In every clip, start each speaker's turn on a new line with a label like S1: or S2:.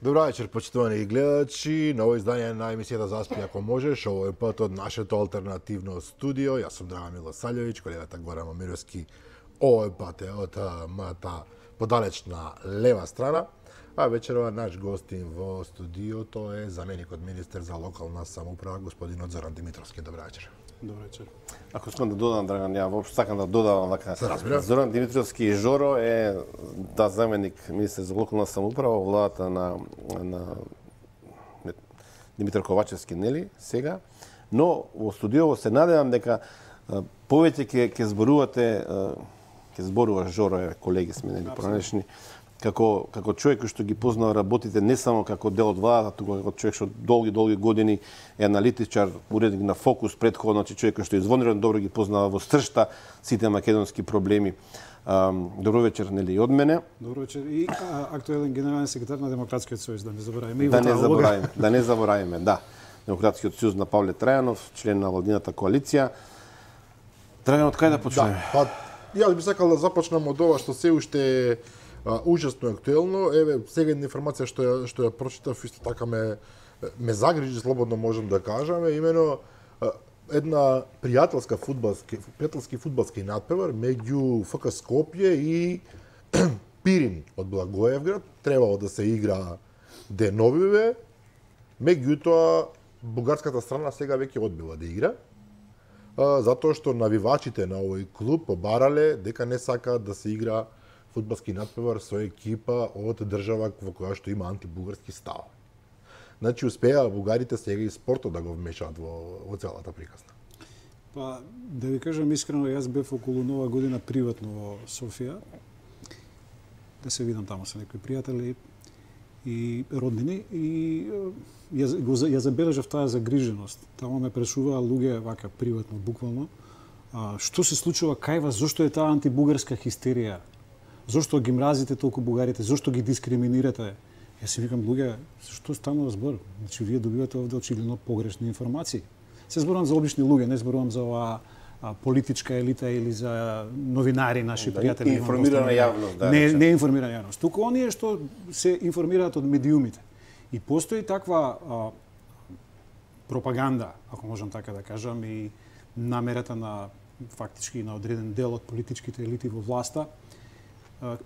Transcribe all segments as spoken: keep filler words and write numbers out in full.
S1: Добро вечер, почитувани гледачи. Ново издание на емисијата Заспи ако можеш. Овој пат од нашето алтернативно студио. Јас сум Драган Милосављевиќ, колегата Горан Момировски. Овој пат е од мојата подалечна лева страна. А вечерова наш гостин во студиото е заменикот министер за локална самоуправа, господинот Зоран Димитровски. Добро вечер.
S2: Добро вечер.
S3: Ако искам да додам, Драган, ја воопшто сакам да додавам вака.
S1: разбира.
S3: Зоран Димитровски и Жоро е да заменик министер за локална самоуправа во владата на на Димитар Ковачевски, нели, сега. Но во студио се надевам дека повеќе ќе ќе зборувате, ќе зборува Жоро, е колеги сме, нели, пронешни, како како човек кој што ги познава работите не само како дел од владата, туку како човек што долги долги години е аналитичар, уредник на Фокус, претходно, значи човек кој што извонредно добро ги познава во сршта сите македонски проблеми. Добро вечер, нели, и од мене.
S2: Добро вечер и а, актуелен генерален секретар на Демократскиот сојуз, да не забораваме и
S3: Да
S2: во
S3: не
S2: таа
S3: забораваме, да не забораваме, да. Демократскиот сојуз на Павле Трајанов, член на владината коалиција. Драган, од кај да почнеме?
S1: Да, па јас би сакал да започнам од ова што се уште е ужасно актуелно. Еве, сега една информација што ја што ја прочитав, исто така ме ме загрижи, слободно можам да кажам, имено една пријателска фудбалски пријателски фудбалски натпревар меѓу Ф К Скопје и Пирин од Благоевград требало да се игра деновиве, меѓутоа бугарската страна сега веќе одбила да игра, затоа што навивачите на овој клуб побарале дека не сакаат да се игра фудбалски натпревар со екипа од држава во која што има антибугарски став. Значи, успеа бугарите сега и спортот да го вмешаат во, во целата приказна.
S2: Па, да ви кажам искрено, јас бев околу Нова година приватно во Софија, да се видам таму со некои пријатели и роднини, и ја, го, ја забележав таа загриженост. Таму ме прашуваа луѓе, вака, приватно, буквално, а, што се случува кај вас, зошто е таа антибугарска хистерија? Зошто ги мразите толку бугарите? Зошто ги дискриминирате? Јас си викам, луѓе, што станува збор? Значи, вие добивате овде очигледно погрешни информации. Се зборувам за обични луѓе, не зборувам за оваа политичка елита или за новинари, наши
S3: да,
S2: пријатели.
S3: Информирана јавност, да.
S2: Не, не информирана јавност. Туку оние што се информираат од медиумите. И постои таква а, пропаганда, ако можам така да кажам, и намерата на фактички на одреден дел од политичките елити во власта,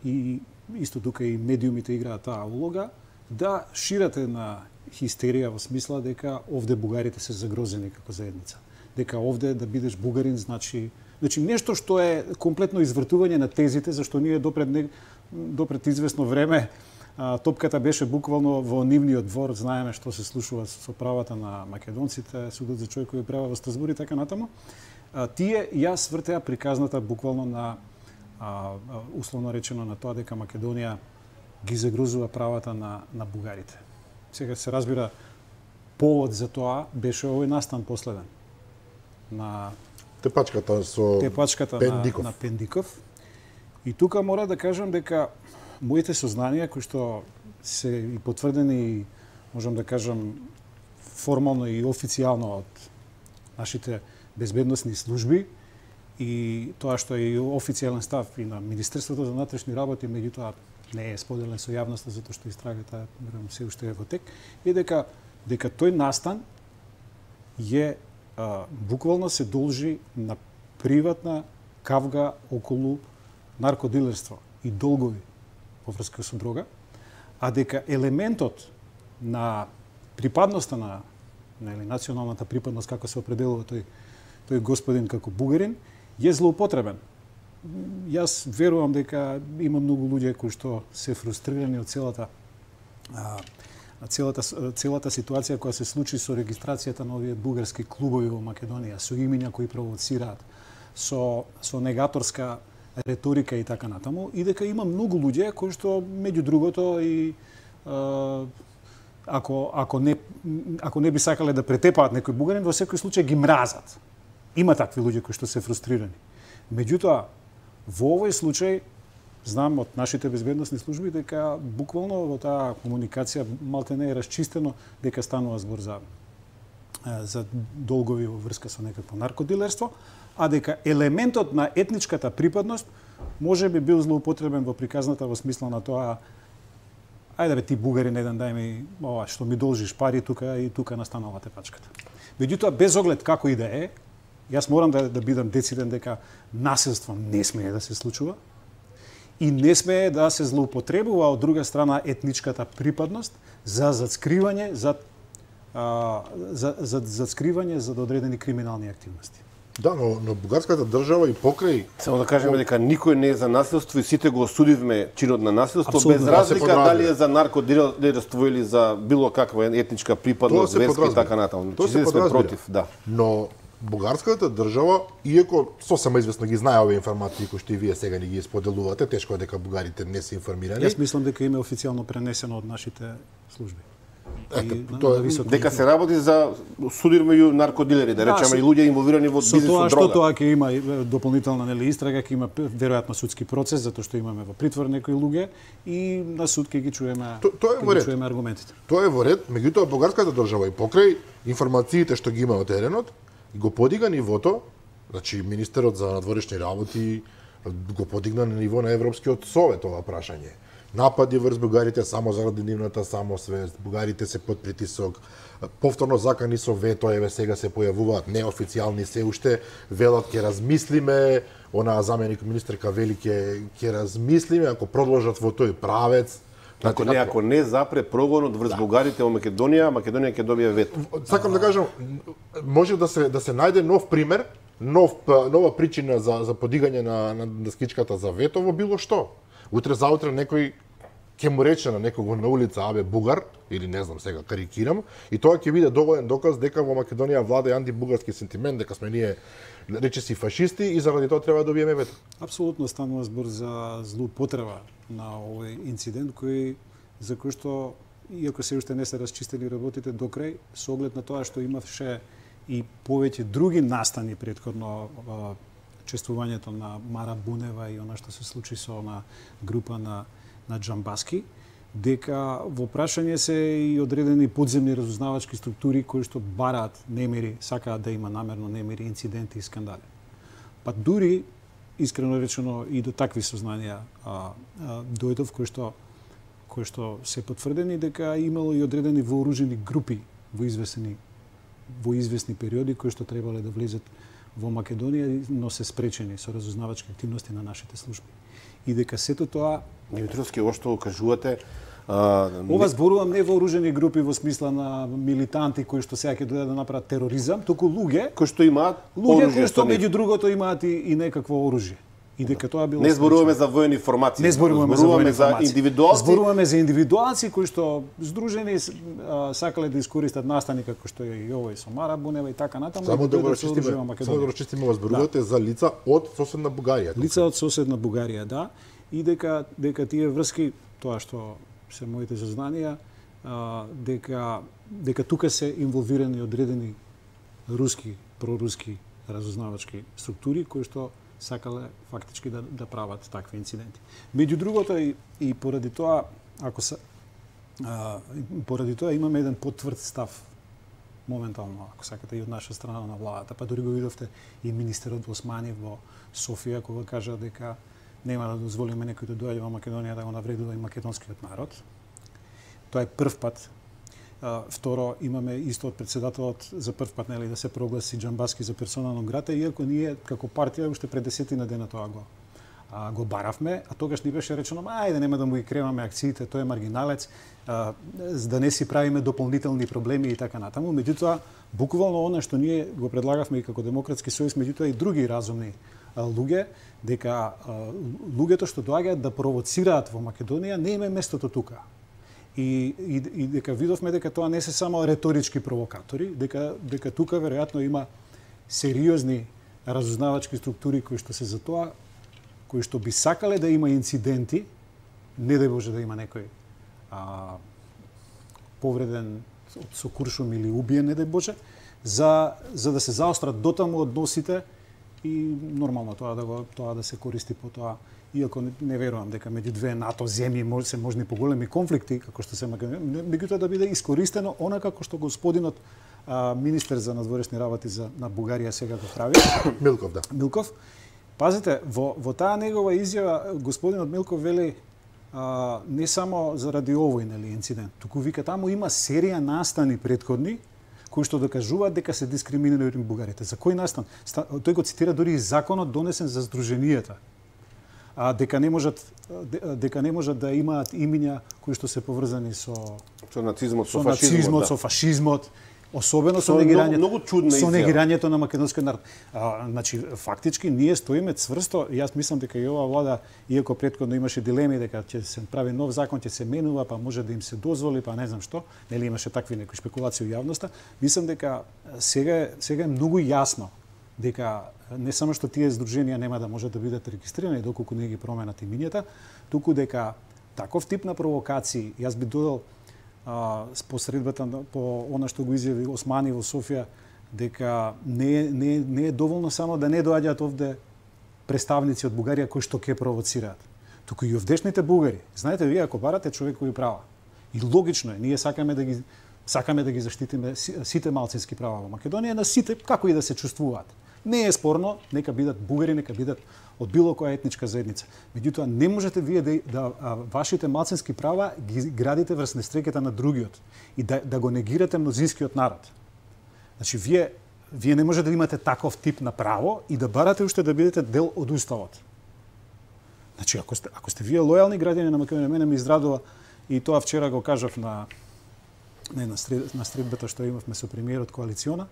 S2: и исто тука и медиумите играат таа улога, да ширате на хистерија во смисла дека овде бугарите се загрозени како заедница. Дека овде да бидеш бугарин значи значи нешто што е комплетно извртување на тезите, зашто ние допред не, допред известно време а, топката беше буквално во нивниот двор, знаеме што се случува со правата на македонците, судот за човекови права во Страсбург и така натаму. А, тие јас вртеа приказната буквално на А, условно речено на тоа дека Македонија ги загрозува правата на, на бугарите. Сега се разбира, повод за тоа беше овој настан последен на
S1: Тепачката со
S2: тепачката
S1: Пендиков.
S2: На, на Пендиков. И тука мора да кажам дека моите сознанија, кои што се и потврдени, можам да кажам, формално и официјално од нашите безбедносни служби, и тоа што е и официјален став и на Министерството за внатрешни работи, меѓутоа не е споделен со јавноста затоа што истрагата верувам се уште е во тек, е дека дека тој настан е а, буквално се должи на приватна кавга околу наркодилерство и долгови во врска со дрога, а дека елементот на припадноста на нели националната припадност како се определува тој тој господин како бугарин е злоупотребен. Јас верувам дека има многу луѓе кои што се фрустрирани од целата а, целата целата ситуација која се случи со регистрацијата на овие бугарски клубови во Македонија, со имиња кои провоцираат, со со негаторска реторика и така натаму, и дека има многу луѓе кои што меѓу другото и а, ако ако не ако не би сакале да претепаат некој бугарин, во секој случај ги мразат. Има такви луѓе кои што се фрустрирани. Меѓутоа, во овој случај, знам од нашите безбедносни служби дека буквално во таа комуникација малте не е расчистено дека станува збор за за долгови во врска со некакво наркодилерство, а дека елементот на етничката припадност може би бил злоупотребен во приказната во смисла на тоа ајде бе ти бугарин еден дај ми ова што ми должиш пари тука и тука настанала тепачката. Меѓутоа без оглед како и да е, јас морам да да бидам дециден дека насилство не смее да се случува и не смее да се злоупотребува од друга страна етничката припадност за зацкривање за а, за за зацкривање за одредени криминални активности.
S1: Да, но, но бугарската држава и покрај...
S3: Само да кажеме дека никој не е за насилство и сите го осудивме чинот на насилство,
S2: Абсолютно,
S3: без разлика дали е за наркодилерство или за било каква етничка припадност, верска и така натаму.
S1: Тоа се
S3: сме против, да.
S1: Но бугарската држава, иако сосема известно ги знае овие информации кои што и вие сега ни ги споделувате, тешко е дека бугарите не се информирани.
S2: Јас мислам дека им е официјално пренесено од нашите служби.
S1: Ете,
S2: И,
S1: тоа
S2: на
S1: е
S3: Дека се работи за судир меѓу наркодилери, да речеме, и луѓе инволвирани во бизнис со дрога.
S2: Со тоа што тоа ќе има дополнителна нели истрага, ќе има веројатно судски процес затоа што имаме во притвор некои луѓе и на суд ќе ги чуеме,
S1: То- тоа е во
S2: ќе
S1: ред.
S2: ги чуеме аргументите.
S1: Тоа е во ред, меѓутоа бугарската држава и покрај информациите што ги има од теренот, го подига нивото, значи министерот за надворешни работи го подигна на ниво на Европскиот совет ова прашање. Напади врз бугарите само заради нивната самосвест, бугарите се под притисок, повторно закани со вето, еве сега се појавуваат неофицијални се уште, велат ќе размислиме, онаа заменик министерка вели ќе ќе размислиме ако продолжат во тој правец.
S3: Ако не, ако не запре прогонот врз бугарите во Македонија, Македонија ќе добие вето.
S1: Сакам да кажам, може да се да се најде нов пример, нов нова причина за за подигање на на, на скичката за вето во било што. Утре заутре некој ќе му рече на некого на улица абе бугар или не знам сега карикирам и тоа ќе биде доволен доказ дека во Македонија влада антибугарски сентимент, дека сме ние речиси фашисти и заради тоа треба да добиеме вето.
S2: Апсолутно станува збор за злоупотреба на овој инцидент кој за кој што иако се уште не се расчистени работите до крај, со оглед на тоа што имаше и повеќе други настани претходно чествувањето на Мара Бунева и она што се случи со на група на на Џамбаски, дека во прашање се и одредени подземни разузнавачки структури кои што бараат немири, сакаат да има намерно немири, инциденти и скандали. Па дури искрено речено и до такви сознанија а, а, дојдов кои што кои што се потврдени дека имало и одредени вооружени групи во известни во известни периоди кои што требале да влезат во Македонија, но се спречени со разузнавачки активности на нашите служби. И дека сето тоа
S3: Димитровски, ова што кажувате, а,
S2: ова зборувам не вооружени групи во смисла на милитанти кои што сега ќе дојдат да направат тероризам, туку луѓе
S3: кои што имаат
S2: луѓе
S3: оружје,
S2: кои што
S3: не-
S2: меѓу другото имаат и, и некакво оружје. И дека тоа било
S3: Не зборуваме
S2: спречено.
S3: за воени формации.
S2: Не зборуваме,
S3: зборуваме
S2: за,
S3: за индивидуалци.
S2: Зборуваме за индивидуалци кои што здружени а, сакале да искористат настани како што е и овој со Мара Бунева и така натаму.
S1: Само
S2: и
S1: да го
S2: дојдат со оружје во
S1: расчистиме,
S2: Македонија.
S1: само да го расчистиме ова зборувате за лица од соседна Бугарија.
S2: Лица од соседна Бугарија, да, и дека дека тие врски, тоа што се моите сознанија, а, дека дека тука се инволвирани одредени руски, проруски разузнавачки структури кои што сакале фактички да да прават такви инциденти. Меѓу другото и, и поради тоа, ако се а, поради тоа имаме еден потврд став моментално, ако сакате, и од наша страна на владата. Па дури го видовте и министерот Османи во Софија кога кажа дека нема да дозволиме некој да доаѓа во Македонија да го навредува и македонскиот народ. Тоа е прв пат. А, второ, имаме исто од председателот за прв пат нели да се прогласи Џамбаски за персона нон грата, иако ние како партија уште пред десетина дена тоа го а, го баравме, а тогаш ни беше речено, ајде нема да му ги креваме акциите, тој е маргиналец, а, за да не си правиме дополнителни проблеми и така натаму. Меѓутоа, буквално она што ние го предлагавме и како Демократски сојуз, меѓутоа и други разумни а, луѓе, дека а, луѓето што доаѓаат да провоцираат во Македонија не им е местото тука. И, и, и дека видовме дека тоа не се само реторички провокатори, дека, дека тука веројатно има сериозни разузнавачки структури кои што се за тоа, кои што би сакале да има инциденти, не дај Боже да има некој а, повреден со куршум или убиен, не дај Боже, за, за да се заострат дотаму односите и нормално тоа да го тоа да се користи по тоа. Иако не, не верувам дека меѓу две НАТО земји може се можни поголеми конфликти како што се Македонија, меѓутоа да биде искористено она како што господинот а, министер за надворешни работи за на Бугарија сега го прави.
S1: Милков, да.
S2: Милков. Пазите, во во таа негова изјава господинот Милков вели а, не само заради овој нели инцидент, туку вика таму има серија настани претходни кои што докажуваат дека се дискриминирани бугарите. За кој настан? Тој го цитира дури и законот донесен за здруженијата. А дека не можат дека не можат да имаат имиња кои што се поврзани со
S3: со нацизмот, со,
S2: со
S3: фашизмот,
S2: нацизмот,
S3: да.
S2: со фашизмот, особено со
S3: Со
S2: негирањето,
S3: многу чудна
S2: со
S3: изјава.
S2: негирањето на македонскиот народ. А, значи фактички ние стоиме цврсто, јас мислам дека и оваа влада, иако претходно имаше дилеми дека ќе се прави нов закон, ќе се менува, па може да им се дозволи, па не знам што, нели имаше такви некои спекулации во јавноста, мислам дека сега е, сега е многу јасно дека не само што тие здруженија нема да можат да бидат регистрирани доколку не ги променат имињата, туку дека таков тип на провокации, јас би додал а, по средбата по она што го изјави Османи во Софија, дека не, не, не е доволно само да не доаѓаат овде представници од Бугарија кои што ќе провоцираат, туку и овдешните бугари. Знаете, вие ако барате човекови права, и логично е, ние сакаме да ги сакаме да ги заштитиме сите малцински права во Македонија, на сите како и да се чувствуваат. Не е спорно, нека бидат бугари, нека бидат од било која етничка заедница. Меѓутоа, не можете вие да, да а, вашите малцински права ги градите врз нестреката на другиот и да, да го негирате мнозинскиот народ. Значи, вие, вие не можете да имате таков тип на право и да барате уште да бидете дел од уставот. Значи, ако сте, ако сте вие лојални граѓани на Македонија, мене ми израдува и тоа вчера го кажав на не, на, сред, на средбата што имавме со премиерот коалициона,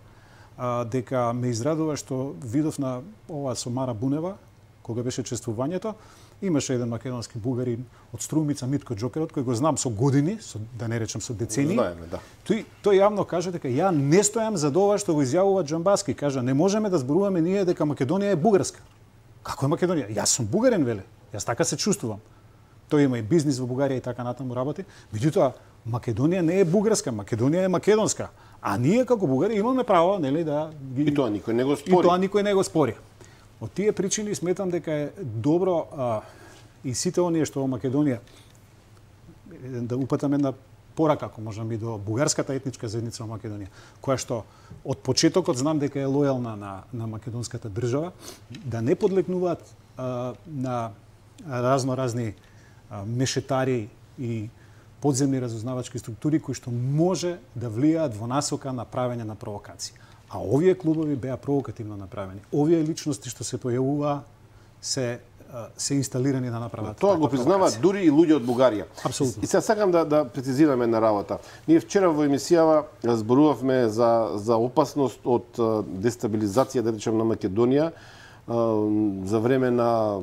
S2: а, дека ме израдува што видов на ова со Мара Бунева, кога беше чествувањето, имаше еден македонски бугарин од Струмица, Митко Џокерот, кој го знам со години, со, да не речем со децении.
S3: Знаеме, да.
S2: Тој, тој јавно кажа дека ја не стојам за ова што го изјавува Џамбаски. Кажа, не можеме да зборуваме ние дека Македонија е бугарска. Како е Македонија? Јас сум бугарин, веле. Јас така се чувствувам. Тој има и бизнис во Бугарија и така натаму работи. Меѓутоа, Македонија не е бугарска, Македонија е македонска. А ние како бугари имаме право, нели, да ги...
S3: И тоа никој не го
S2: И
S3: спори.
S2: тоа никој не го спори. Од тие причини сметам дека е добро а, и сите оние што во Македонија да упатам една порака, ако можам и до бугарската етничка заедница во Македонија, која што од почетокот знам дека е лојална на, на македонската држава, да не подлегнуваат а, на разно-разни а, мешетари и подземни разузнавачки структури кои што може да влијаат во насока на правење на провокации. А овие клубови беа провокативно направени. Овие личности што се појавуваа се се инсталирани да направат.
S3: Тоа го признаваат дури и луѓе од Бугарија.
S2: Апсолутно.
S3: И сега сакам да да прецизираме една работа. Ние вчера во емисијава зборувавме за за опасност од дестабилизација, да речем, на Македонија за време на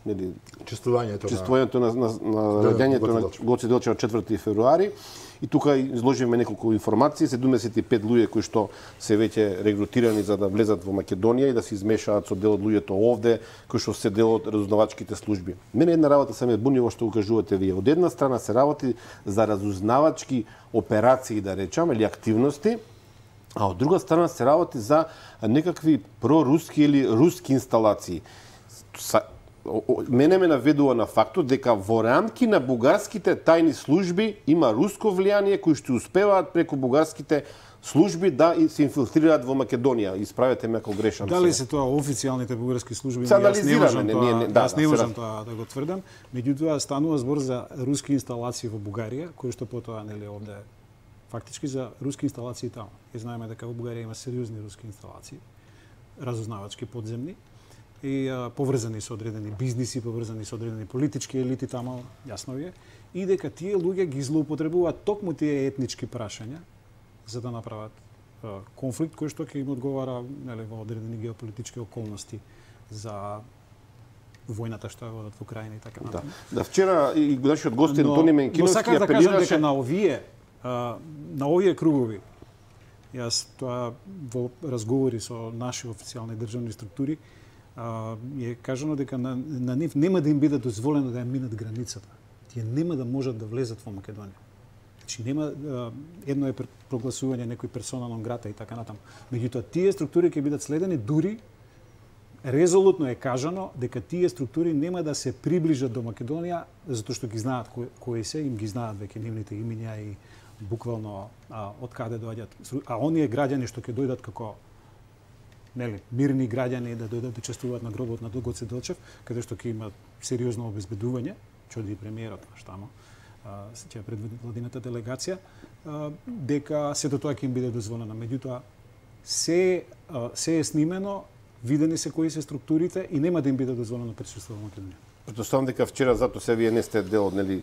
S3: нели
S1: чествувањето,
S3: чествувањето на на, на раѓањето на Гоце Делчев четврти февруари. И тука изложивме неколку информации, седумдесет и пет луѓе кои што се веќе регрутирани за да влезат во Македонија и да се измешаат со дел од луѓето овде, кои што се дел од разузнавачките служби. Мене една работа се ме буни во што укажувате вие. Од една страна се работи за разузнавачки операции, да речам, или активности, а од друга страна се работи за некакви проруски или руски инсталации. Мене ме наведува на фактот дека во рамки на бугарските тајни служби има руско влијание кои што успеваат преку бугарските служби да се инфилтрираат во Македонија. Исправете ме ако грешам.
S2: Дали се тоа официјалните бугарски служби?
S3: Се
S2: Јас не можам
S3: не,
S2: тоа,
S3: не, не, да,
S2: јас не
S3: да,
S2: можам
S3: се
S2: тоа да го тврдам. Меѓутоа станува збор за руски инсталации во Бугарија, кои што потоа нели овде фактички за руски инсталации таму. И знаеме дека во Бугарија има сериозни руски инсталации, разузнавачки подземни и а, поврзани со одредени бизниси, поврзани со одредени политички елити таму, јасно ви е, и дека тие луѓе ги злоупотребуваат токму тие етнички прашања за да направат а, конфликт кој што ќе им одговара нели во одредени геополитички околности за војната што е водат во Украина и така натаму.
S3: Да. Да, вчера и нашиот гостин Тони Менкиновски
S2: но сакам да кажам дека
S3: дека
S2: на овие а, на овие кругови јас тоа во разговори со наши официјални државни структури а, е кажано дека на, на нив нема да им биде дозволено да ја минат границата. Тие нема да можат да влезат во Македонија. Значи нема а, едно е прогласување некој персона нон грата и така натаму. Меѓутоа тие структури ќе бидат следени, дури резолутно е кажано дека тие структури нема да се приближат до Македонија затоа што ги знаат кои, кои се, им ги знаат веќе нивните имиња и буквално а, од каде доаѓаат. А оние граѓани што ќе дојдат како нели мирни граѓани да дојдат да чествуваат на гробот на Гоце Делчев, каде што ќе има сериозно обезбедување, чуди премиерот наш тамо, ќе предводи владината делегација, дека сето тоа ќе им биде дозволено. Меѓутоа, се, се е снимено, видени се кои се структурите и нема да им биде дозволено присуство во Македонија.
S3: Претпоставам дека вчера зато се вие не сте дел од нели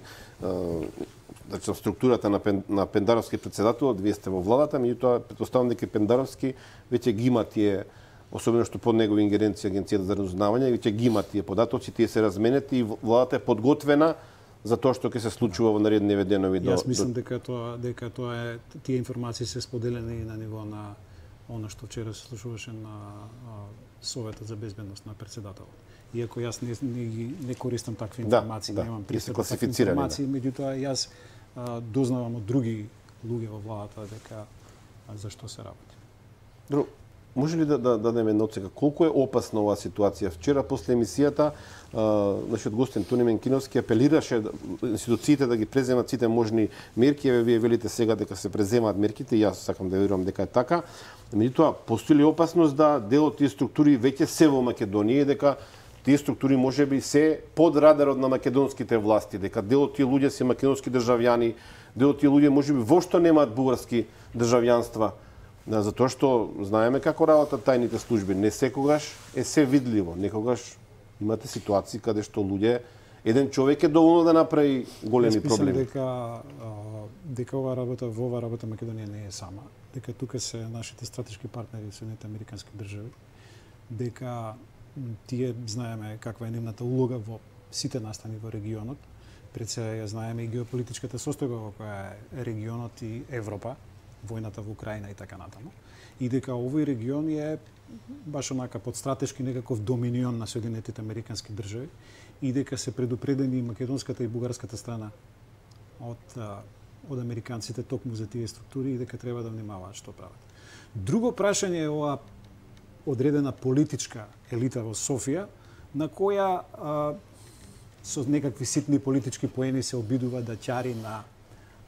S3: значи структурата на Пен, на Пендаровски претседател, вие сте во владата, меѓутоа претпоставам дека Пендаровски веќе ги има тие, особено што под негови ингеренција Агенцијата за разузнавање, веќе ги има тие податоци, тие се разменети и владата е подготвена за тоа што ќе се случува во наредни денови до.
S2: Јас мислам до... дека тоа дека тоа е тие информации се споделени на ниво на она што вчера се слушуваше на Советот за безбедност на претседателот. Иако јас не, не, не користам такви информации,
S3: да,
S2: немам
S3: да,
S2: пристап до такви информации, да. Меѓутоа јас а, дознавам од други луѓе во владата дека а, за што се работи.
S3: Друг, може ли да, да дадеме една оценка колку е опасна оваа ситуација? Вчера после емисијата нашиот гостин Тони Менкиновски апелираше институциите да ги преземат сите можни мерки, еве вие велите сега дека се преземаат мерките, и јас сакам да верувам дека е така. Меѓутоа, постои ли опасност да дел од тие структури веќе се во Македонија и дека тие структури можеби се под радарот на македонските власти, дека дел од тие луѓе се македонски државјани, дел од тие луѓе можеби воопшто немаат бугарски државјанства, затоа што знаеме како работат тајните служби, не секогаш е се видливо, некогаш имате ситуации каде што луѓе, еден човек е доволно да направи големи проблеми.
S2: Дека дека ова работа во оваа работа Македонија не е сама, дека тука се нашите стратешки партнери Соединените американски држави, дека тие знаеме каква е нивната улога во сите настани во регионот. Пред се ја знаеме и геополитичката состојба во која е регионот и Европа, војната во Украина и така натаму. И дека овој регион е баш онака под стратешки некаков доминион на Соединетите американски држави и дека се предупредени македонската и бугарската страна од од американците токму за тие структури и дека треба да внимаваат што прават. Друго прашање е ова одредена политичка елита во Софија, на која а, со некакви ситни политички поени се обидува да ќари на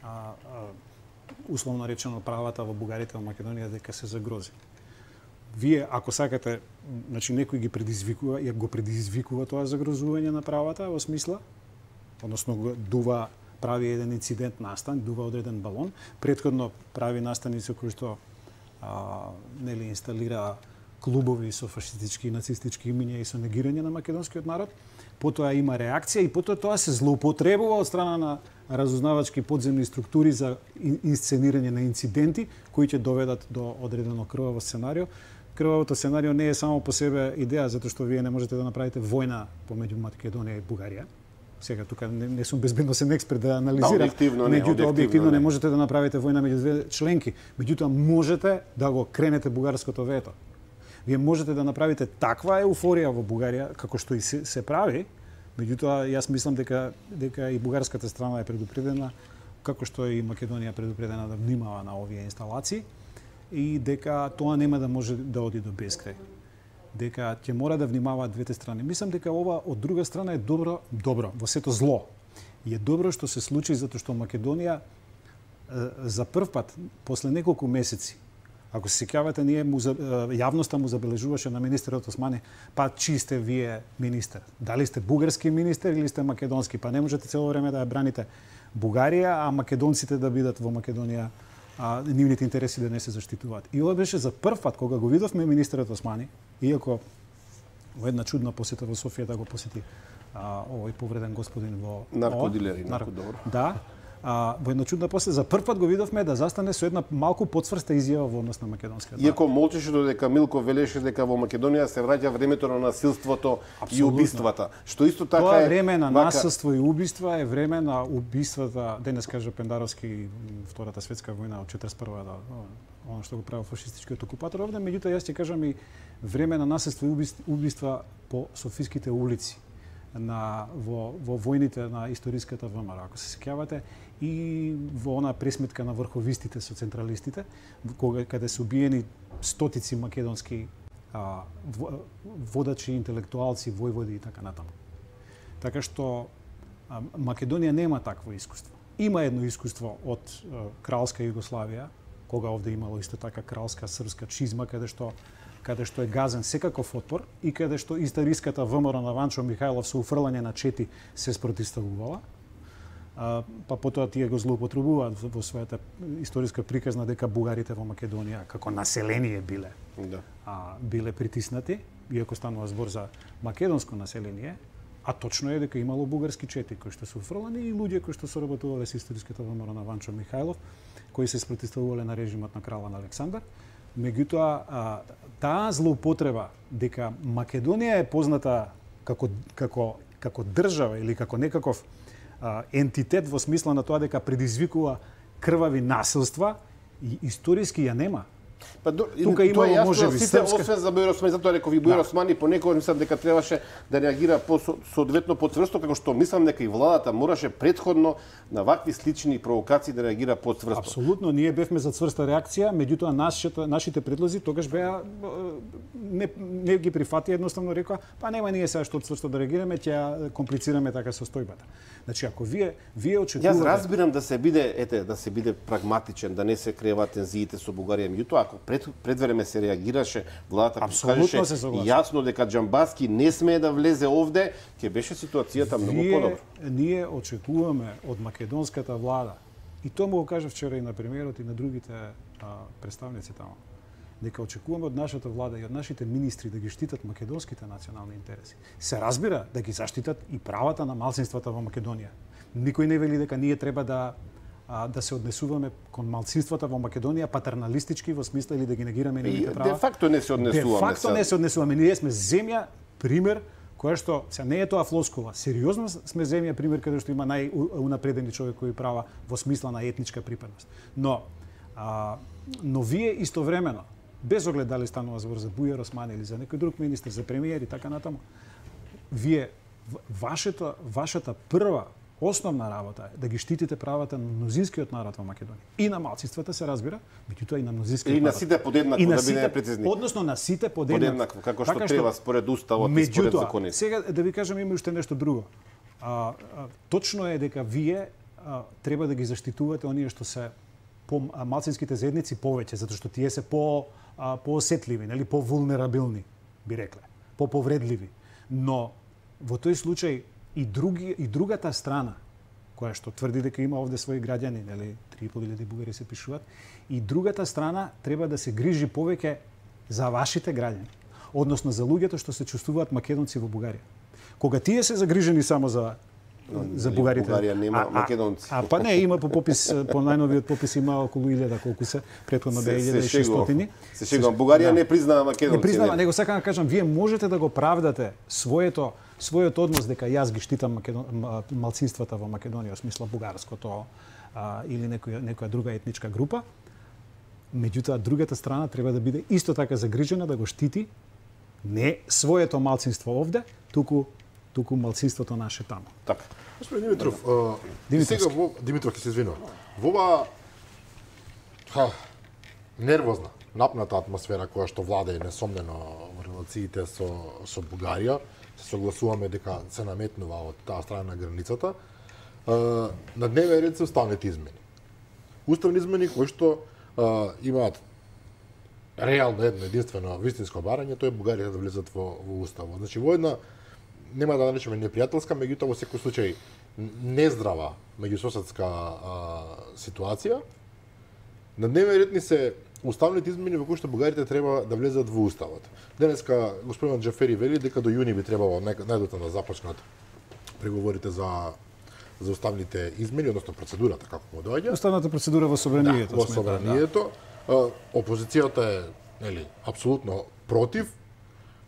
S2: а, а, условно речено правата во бугарите во Македонија дека се загрози. Вие, ако сакате, значи некој ги предизвикува, ја го предизвикува тоа загрозување на правата во смисла, односно дува, прави еден инцидент настан, дува одреден балон, претходно прави настани со кои што а, нели инсталира клубови со фашистички и нацистички имиња и со негирање на македонскиот народ, потоа има реакција и потоа тоа се злоупотребува од страна на разузнавачки подземни структури за инсценирање на инциденти кои ќе доведат до одредено крваво сценарио. Крвавото сценарио не е само по себе идеја, затоа што вие не можете да направите војна помеѓу Македонија и Бугарија. Сега тука не, не сум безбедносен експерт да анализирам,
S3: да, објективно,
S2: меѓутоа објективно, објективно
S3: не.
S2: не можете да направите војна меѓу две членки, меѓутоа можете да го кренете бугарското вето. Вие можете да направите таква еуфорија во Бугарија, како што и се, се прави, меѓутоа јас мислам дека дека и бугарската страна е предупредена, како што и Македонија предупредена да внимава на овие инсталации и дека тоа нема да може да оди до бескрај. Дека ќе мора да внимаваат двете страни. Мислам дека ова од друга страна е добро, добро во сето зло. И е добро што се случи затоа што Македонија за прв пат после неколку месеци, ако се сеќавате, ние му, јавноста му забележуваше на министерот Османи, па чи сте вие министер? Дали сте бугарски министер или сте македонски? Па не можете цело време да ја браните Бугарија, а македонците да бидат во Македонија, а нивните интереси да не се заштитуваат. И ова беше за прв пат кога го видовме министерот Османи, иако во една чудна посета во Софија да го посети а, овој повреден господин во
S3: наркодилер и наркодобро.
S2: Да. А, во една чудна после за прв пат го видовме да застане со една малку потврста изјава во однос на македонскиот народ.
S3: Иако молчеше додека Милко велеше дека во Македонија се враќа времето на насилството
S2: Абсолютно.
S3: И убиствата, што исто така
S2: Тоа
S3: е
S2: време на
S3: вака...
S2: насилство и убиства е време на убиствата, денес кажа Пендаровски, Втората светска војна од четиридесет и прва, да, оно што го правил фашистичкиот окупатор овде, меѓутоа јас ќе кажам и време на насилство и убиства по софиските улици на во во војните на историската ВМРО, ако се сеќавате, и во она пресметка на врховистите со централистите, кога каде се убиени стотици македонски а, водачи, интелектуалци, војводи и така натаму. Така што а, Македонија нема такво искуство. Има едно искуство од а, кралска Југославија, кога овде имало исто така кралска српска чизма, каде што каде што е газен секаков отпор и каде што историската ВМРО на Ванчо Михајлов со уфрлање на чети се спротивставувала. А, па потоа тие го злоупотребуваат во својата историска приказна дека бугарите во Македонија како население биле
S3: Да.
S2: а, биле притиснати, иако станува збор за македонско население, а точно е дека имало бугарски чети кои што се уфрлани и луѓе кои што соработувале со историската ВМРО на Ванчо Михајлов, кои се спротивставувале на режимот на кралот Александар. Меѓутоа, а, таа злоупотреба дека Македонија е позната како како како држава или како некаков а, ентитет во смисла на тоа дека предизвикува крвави насилства, и историски ја нема.
S3: Па до,
S2: Тука има можеби
S3: сите
S2: српска...
S3: освен за Бојар Османи, затоа реков и Бојар Османи понекогаш мислам дека требаше да реагира по соодветно потврсто, како што мислам дека и владата мораше претходно на вакви слични провокации да реагира потврсто.
S2: Апсолутно, ние бевме за цврста реакција, меѓутоа нашите нашите предлози тогаш беа не не ги прифати, едноставно рекоа, па нема ние сега што цврсто да реагираме, ќе комплицираме така состојбата. Значи ако вие вие очекувате...
S3: Јас разбирам да се биде, ете, да се биде прагматичен, да не се крева тензиите со Бугарија, меѓутоа ако пред предвреме се реагираше, владата кажеше јасно дека Џамбаски не смее да влезе овде, ќе беше ситуацијата многу подобро.
S2: Ние очекуваме од македонската влада, и тоа му го кажа вчера и на премиерот и на другите а, представници таму, дека очекуваме од нашата влада и од нашите министри да ги штитат македонските национални интереси. Се разбира да ги заштитат и правата на малцинствата во Македонија. Никој не вели дека ние треба да а, да се однесуваме кон малцинствата во Македонија патерналистички во смисла или да ги негираме нивните права.
S3: Де факто не се однесуваме.
S2: Де факто не се однесуваме. Ние сме земја пример која што се не е тоа флоскула. Сериозно сме земја пример каде што има најунапредени човекови права во смисла на етничка припадност. Но а, но вие истовремено, без оглед дали станува збор за Бојар Османи или за некој друг министер, за премиер и така натаму, вие вашата вашата прва основна работа е да ги штитите правата на мнозинскиот народ во Македонија. И на малцинствата се разбира, меѓутоа и на мнозинскиот народ.
S3: И на сите подеднакво, да бидеме прецизни.
S2: Односно на сите подеднакво.
S3: Подеднакво, како што треба според уставот и според законите.
S2: Сега да ви кажам има уште нешто друго. А, а, точно е дека вие а, треба да ги заштитувате оние што се по малцинските заедници повеќе, затоа што тие се по а, поосетливи, нели, повулнерабилни, би рекле, поповредливи. Но во тој случај и други и другата страна која што тврди дека има овде своји граѓани, нели, три и пол илјади бугари се пишуваат, и другата страна треба да се грижи повеќе за вашите граѓани, односно за луѓето што се чувствуваат македонци во Бугарија. Кога тие се загрижени само за за бугарите.
S3: Бугарија нема
S2: а,
S3: македонци.
S2: А, а па не, има по попис, по најновиот попис има околу илјада колку се, претходно беа илјада и шестстотини.
S3: Се шегувам, Бугарија не признава македонци.
S2: Не признава, него сакам да кажам, вие можете да го правдате своето својот однос дека јас ги штитам македон... малцинствата во Македонија, во смисла бугарското а, или некоја некоја друга етничка група. Меѓутоа другата страна треба да биде исто така загрижена да го штити не своето малцинство овде, туку туку малцинството наше таму.
S3: Така.
S1: Господин Димитров, а, сега во Димитров ќе се извинувам. Во ова ха, нервозна, напната атмосфера која што владее несомнено во релациите со со Бугарија, се согласуваме дека се наметнува од таа страна на границата. А, на дневен ред се уставните измени. Уставни измени кои што а, имаат реално едно единствено вистинско барање, тоа е Бугарија да влезат во, во уставот. Значи во една нема да наречеме непријателска, меѓутоа во секој случај нездрава меѓусоседска ситуација. На дневен ред ни се уставните измени во кои што бугарите треба да влезат во уставот. Денеска господин Џафери вели дека до јуни би требало најдотаму да започнат преговорите за за уставните измени, односно процедурата како му доаѓа.
S2: Уставната процедура во собранието.
S1: Да, во собранието. Да. Опозицијата е, нели, апсолутно против.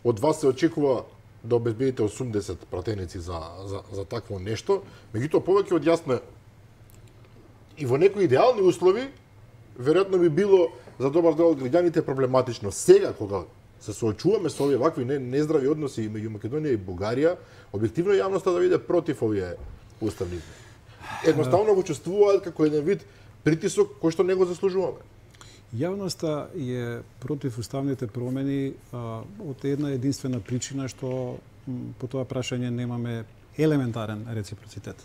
S1: Од вас се очекува да обезбедите осумдесет пратеници за, за, за такво нешто. Меѓутоа, повеќе од јасно и во некои идеални услови, веројатно би било за добар дел од граѓаните проблематично. Сега, кога се соочуваме со овие вакви нездрави односи меѓу Македонија и Бугарија, објективно јавноста да биде против овие уставни измени. Едноставно го чувствуваат како еден вид притисок кој што не го заслужуваме.
S2: Јавноста е против уставните промени а, од една единствена причина што м, по тоа прашање немаме елементарен реципроцитет.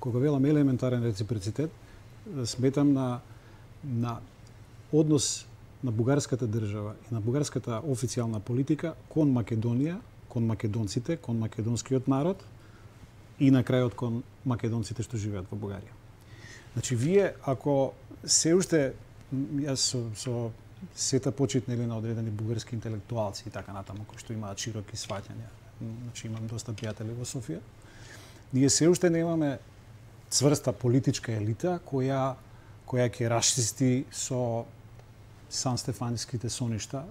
S2: Кога велам елементарен реципроцитет, сметам на на однос на бугарската држава и на бугарската официјална политика кон Македонија, кон македонците, кон македонскиот народ и на крајот кон македонците што живеат во Бугарија. Значи, вие, ако се уште, јас со, со сета почит нели на одредени бугарски интелектуалци и така натаму, кои што имаат широки сваќања, значи имам доста пријатели во Софија, ние се уште немаме цврста политичка елита која која ќе расчисти со Сан Стефанските соништа,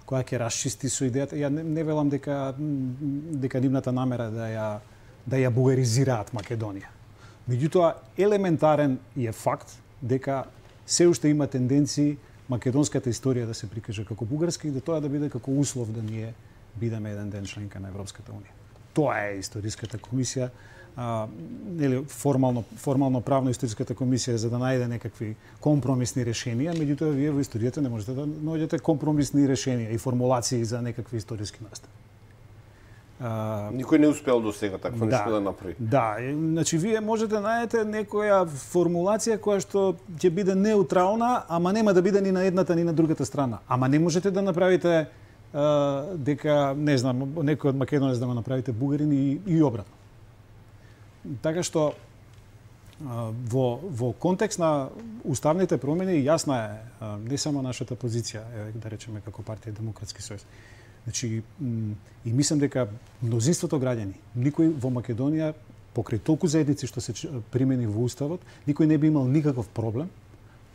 S2: која ќе расчисти со идејата. Ја не, не велам дека дека нивната намера да ја да ја бугаризираат Македонија. Меѓутоа, елементарен е факт дека се уште има тенденции македонската историја да се прикаже како бугарска и да тоа да биде како услов да ние бидеме еден ден членка на Европската унија. Тоа е историската комисија, а, нели формално формално правно историската комисија за да најде некакви компромисни решенија, меѓутоа вие во историјата не можете да наоѓете компромисни решенија и формулации за некакви историски настани.
S3: Uh, Никој не успеал до сега такво да, нешто да направи.
S2: Да, значи вие можете да најдете некоја формулација која што ќе биде неутрална, ама нема да биде ни на едната ни на другата страна. Ама не можете да направите uh, дека, не знам, некој од Македонец да го направите бугарин и, и обратно. Така што uh, во во контекст на уставните промени јасна е uh, не само нашата позиција, да речеме како партија Демократски сојуз. Значи, и мислам дека мнозинството граѓани, никој во Македонија, покрај толку заедници што се примени во уставот, никој не би имал никаков проблем,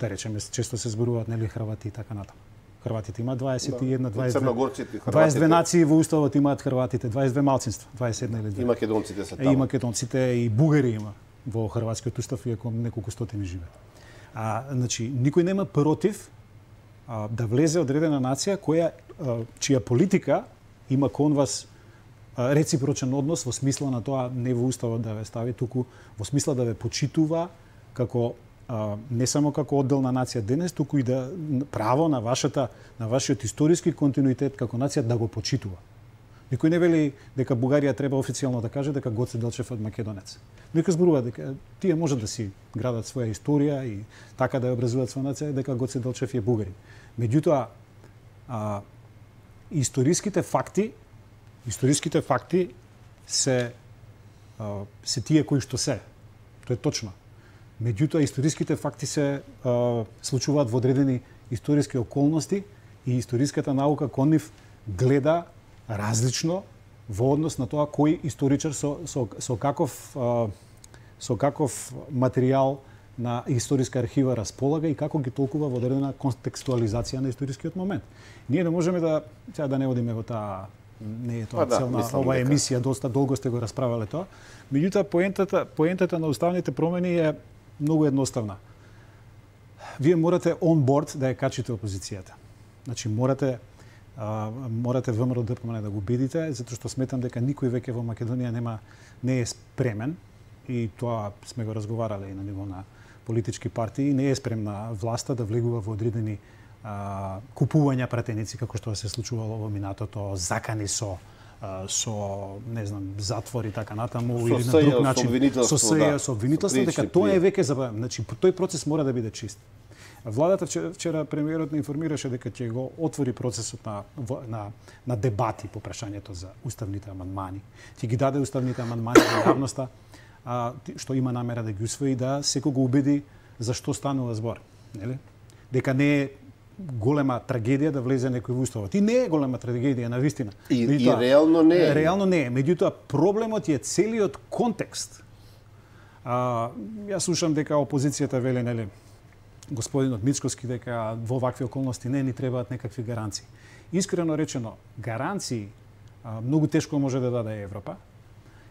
S2: да речеме, често се зборуваат нели Хрвати и така натаму. Хрватите имаат дваесет и една, дваесет и две, дваесет и две нации во уставот имаат Хрватите, дваесет и две малцинства, дваесет и една или две.
S3: И македонците се таму.
S2: И македонците и бугари има во хрватскиот устав, иако неколку стотини живеат. А, значи, никој нема против а, да влезе одредена нација која чија политика има кон вас реципрочен однос во смисла на тоа не во уставот да ве стави, туку во смисла да ве почитува како не само како одделна нација денес, туку и да право на вашата на вашиот историски континуитет како нација да го почитува. Никој не вели дека Бугарија треба официјално да каже дека Гоце Делчев е македонец. Некој зборува дека тие можат да си градат своја историја и така да ја образуваат своја нација, дека Гоце Делчев е бугарин. Меѓутоа, а, историските факти, историските факти се а, се тие кои што се. Тоа е точно. Меѓутоа историските факти се а, случуваат во одредени историски околности и историската наука кон нив гледа различно во однос на тоа кој историчар со со со каков а, со каков материјал на историска архива располага и како ги толкува во одредена контекстуализација на историскиот момент. Ние не можеме да сега да не одиме во таа, не е тоа
S3: да,
S2: цел на оваа емисија, доста долго сте го расправале тоа. Меѓутоа поентата поентата на уставните промени е многу едноставна. Вие морате он борд да ја качите опозицијата. Значи морате а, морате ВМРО ДПМН да го убедите, затоа што сметам дека никој веќе во Македонија нема не е спремен и тоа сме го разговарале и на ниво на политички партии, не е спремна власта да влегува во одредени а, купувања пратеници како што се случувало во минатото, закани со а, со не знам затвор и така натаму
S3: со
S2: или на друг начин
S3: со
S2: сеја со обвинителство, дека тоа е веќе забавено. Значи тој процес мора да биде чист. Владата вчера, вчера премиерот не информираше дека ќе го отвори процесот на на на дебати по прашањето за уставните амандмани. Ќе ги даде уставните амандмани на јавноста, а, што има намера да ги усвои, да секој го убеди за што станува збор, нели? Дека не е голема трагедија да влезе некој во уставот. И не е голема трагедија на вистина.
S3: И, меѓутоа, и реално не е.
S2: Реално не е. Меѓутоа проблемот е целиот контекст. А, јас слушам дека опозицијата вели, нели, господинот Мицкоски, дека во вакви околности не ни требаат некакви гаранции. Искрено речено, гаранции а, многу тешко може да даде Европа.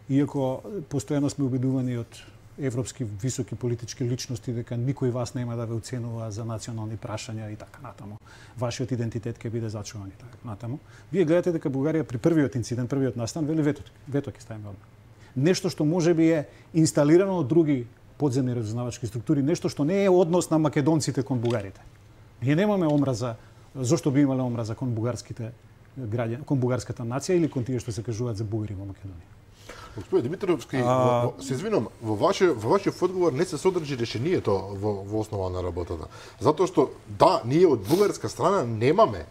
S2: Иако постојано сме убедувани од европски високи политички личности дека никој вас нема да ве оценува за национални прашања и така натаму. Вашиот идентитет ќе биде зачуван и така натаму. Вие гледате дека Бугарија при првиот инцидент, првиот настан, вели вето, вето ќе ставиме одма. Нешто што можеби е инсталирано од други подземни разузнавачки структури, нешто што не е однос на македонците кон бугарите. Ние немаме омраза, зошто би имале омраза кон бугарските граѓани, кон бугарската нација или кон тие што се кажуваат за бугари во Македонија.
S1: Господин Димитровски,
S2: А...
S1: се извинувам, во ваше во вашиот одговор не се содржи решението во, во основа на работата. Затоа што да, ние од бугарска страна немаме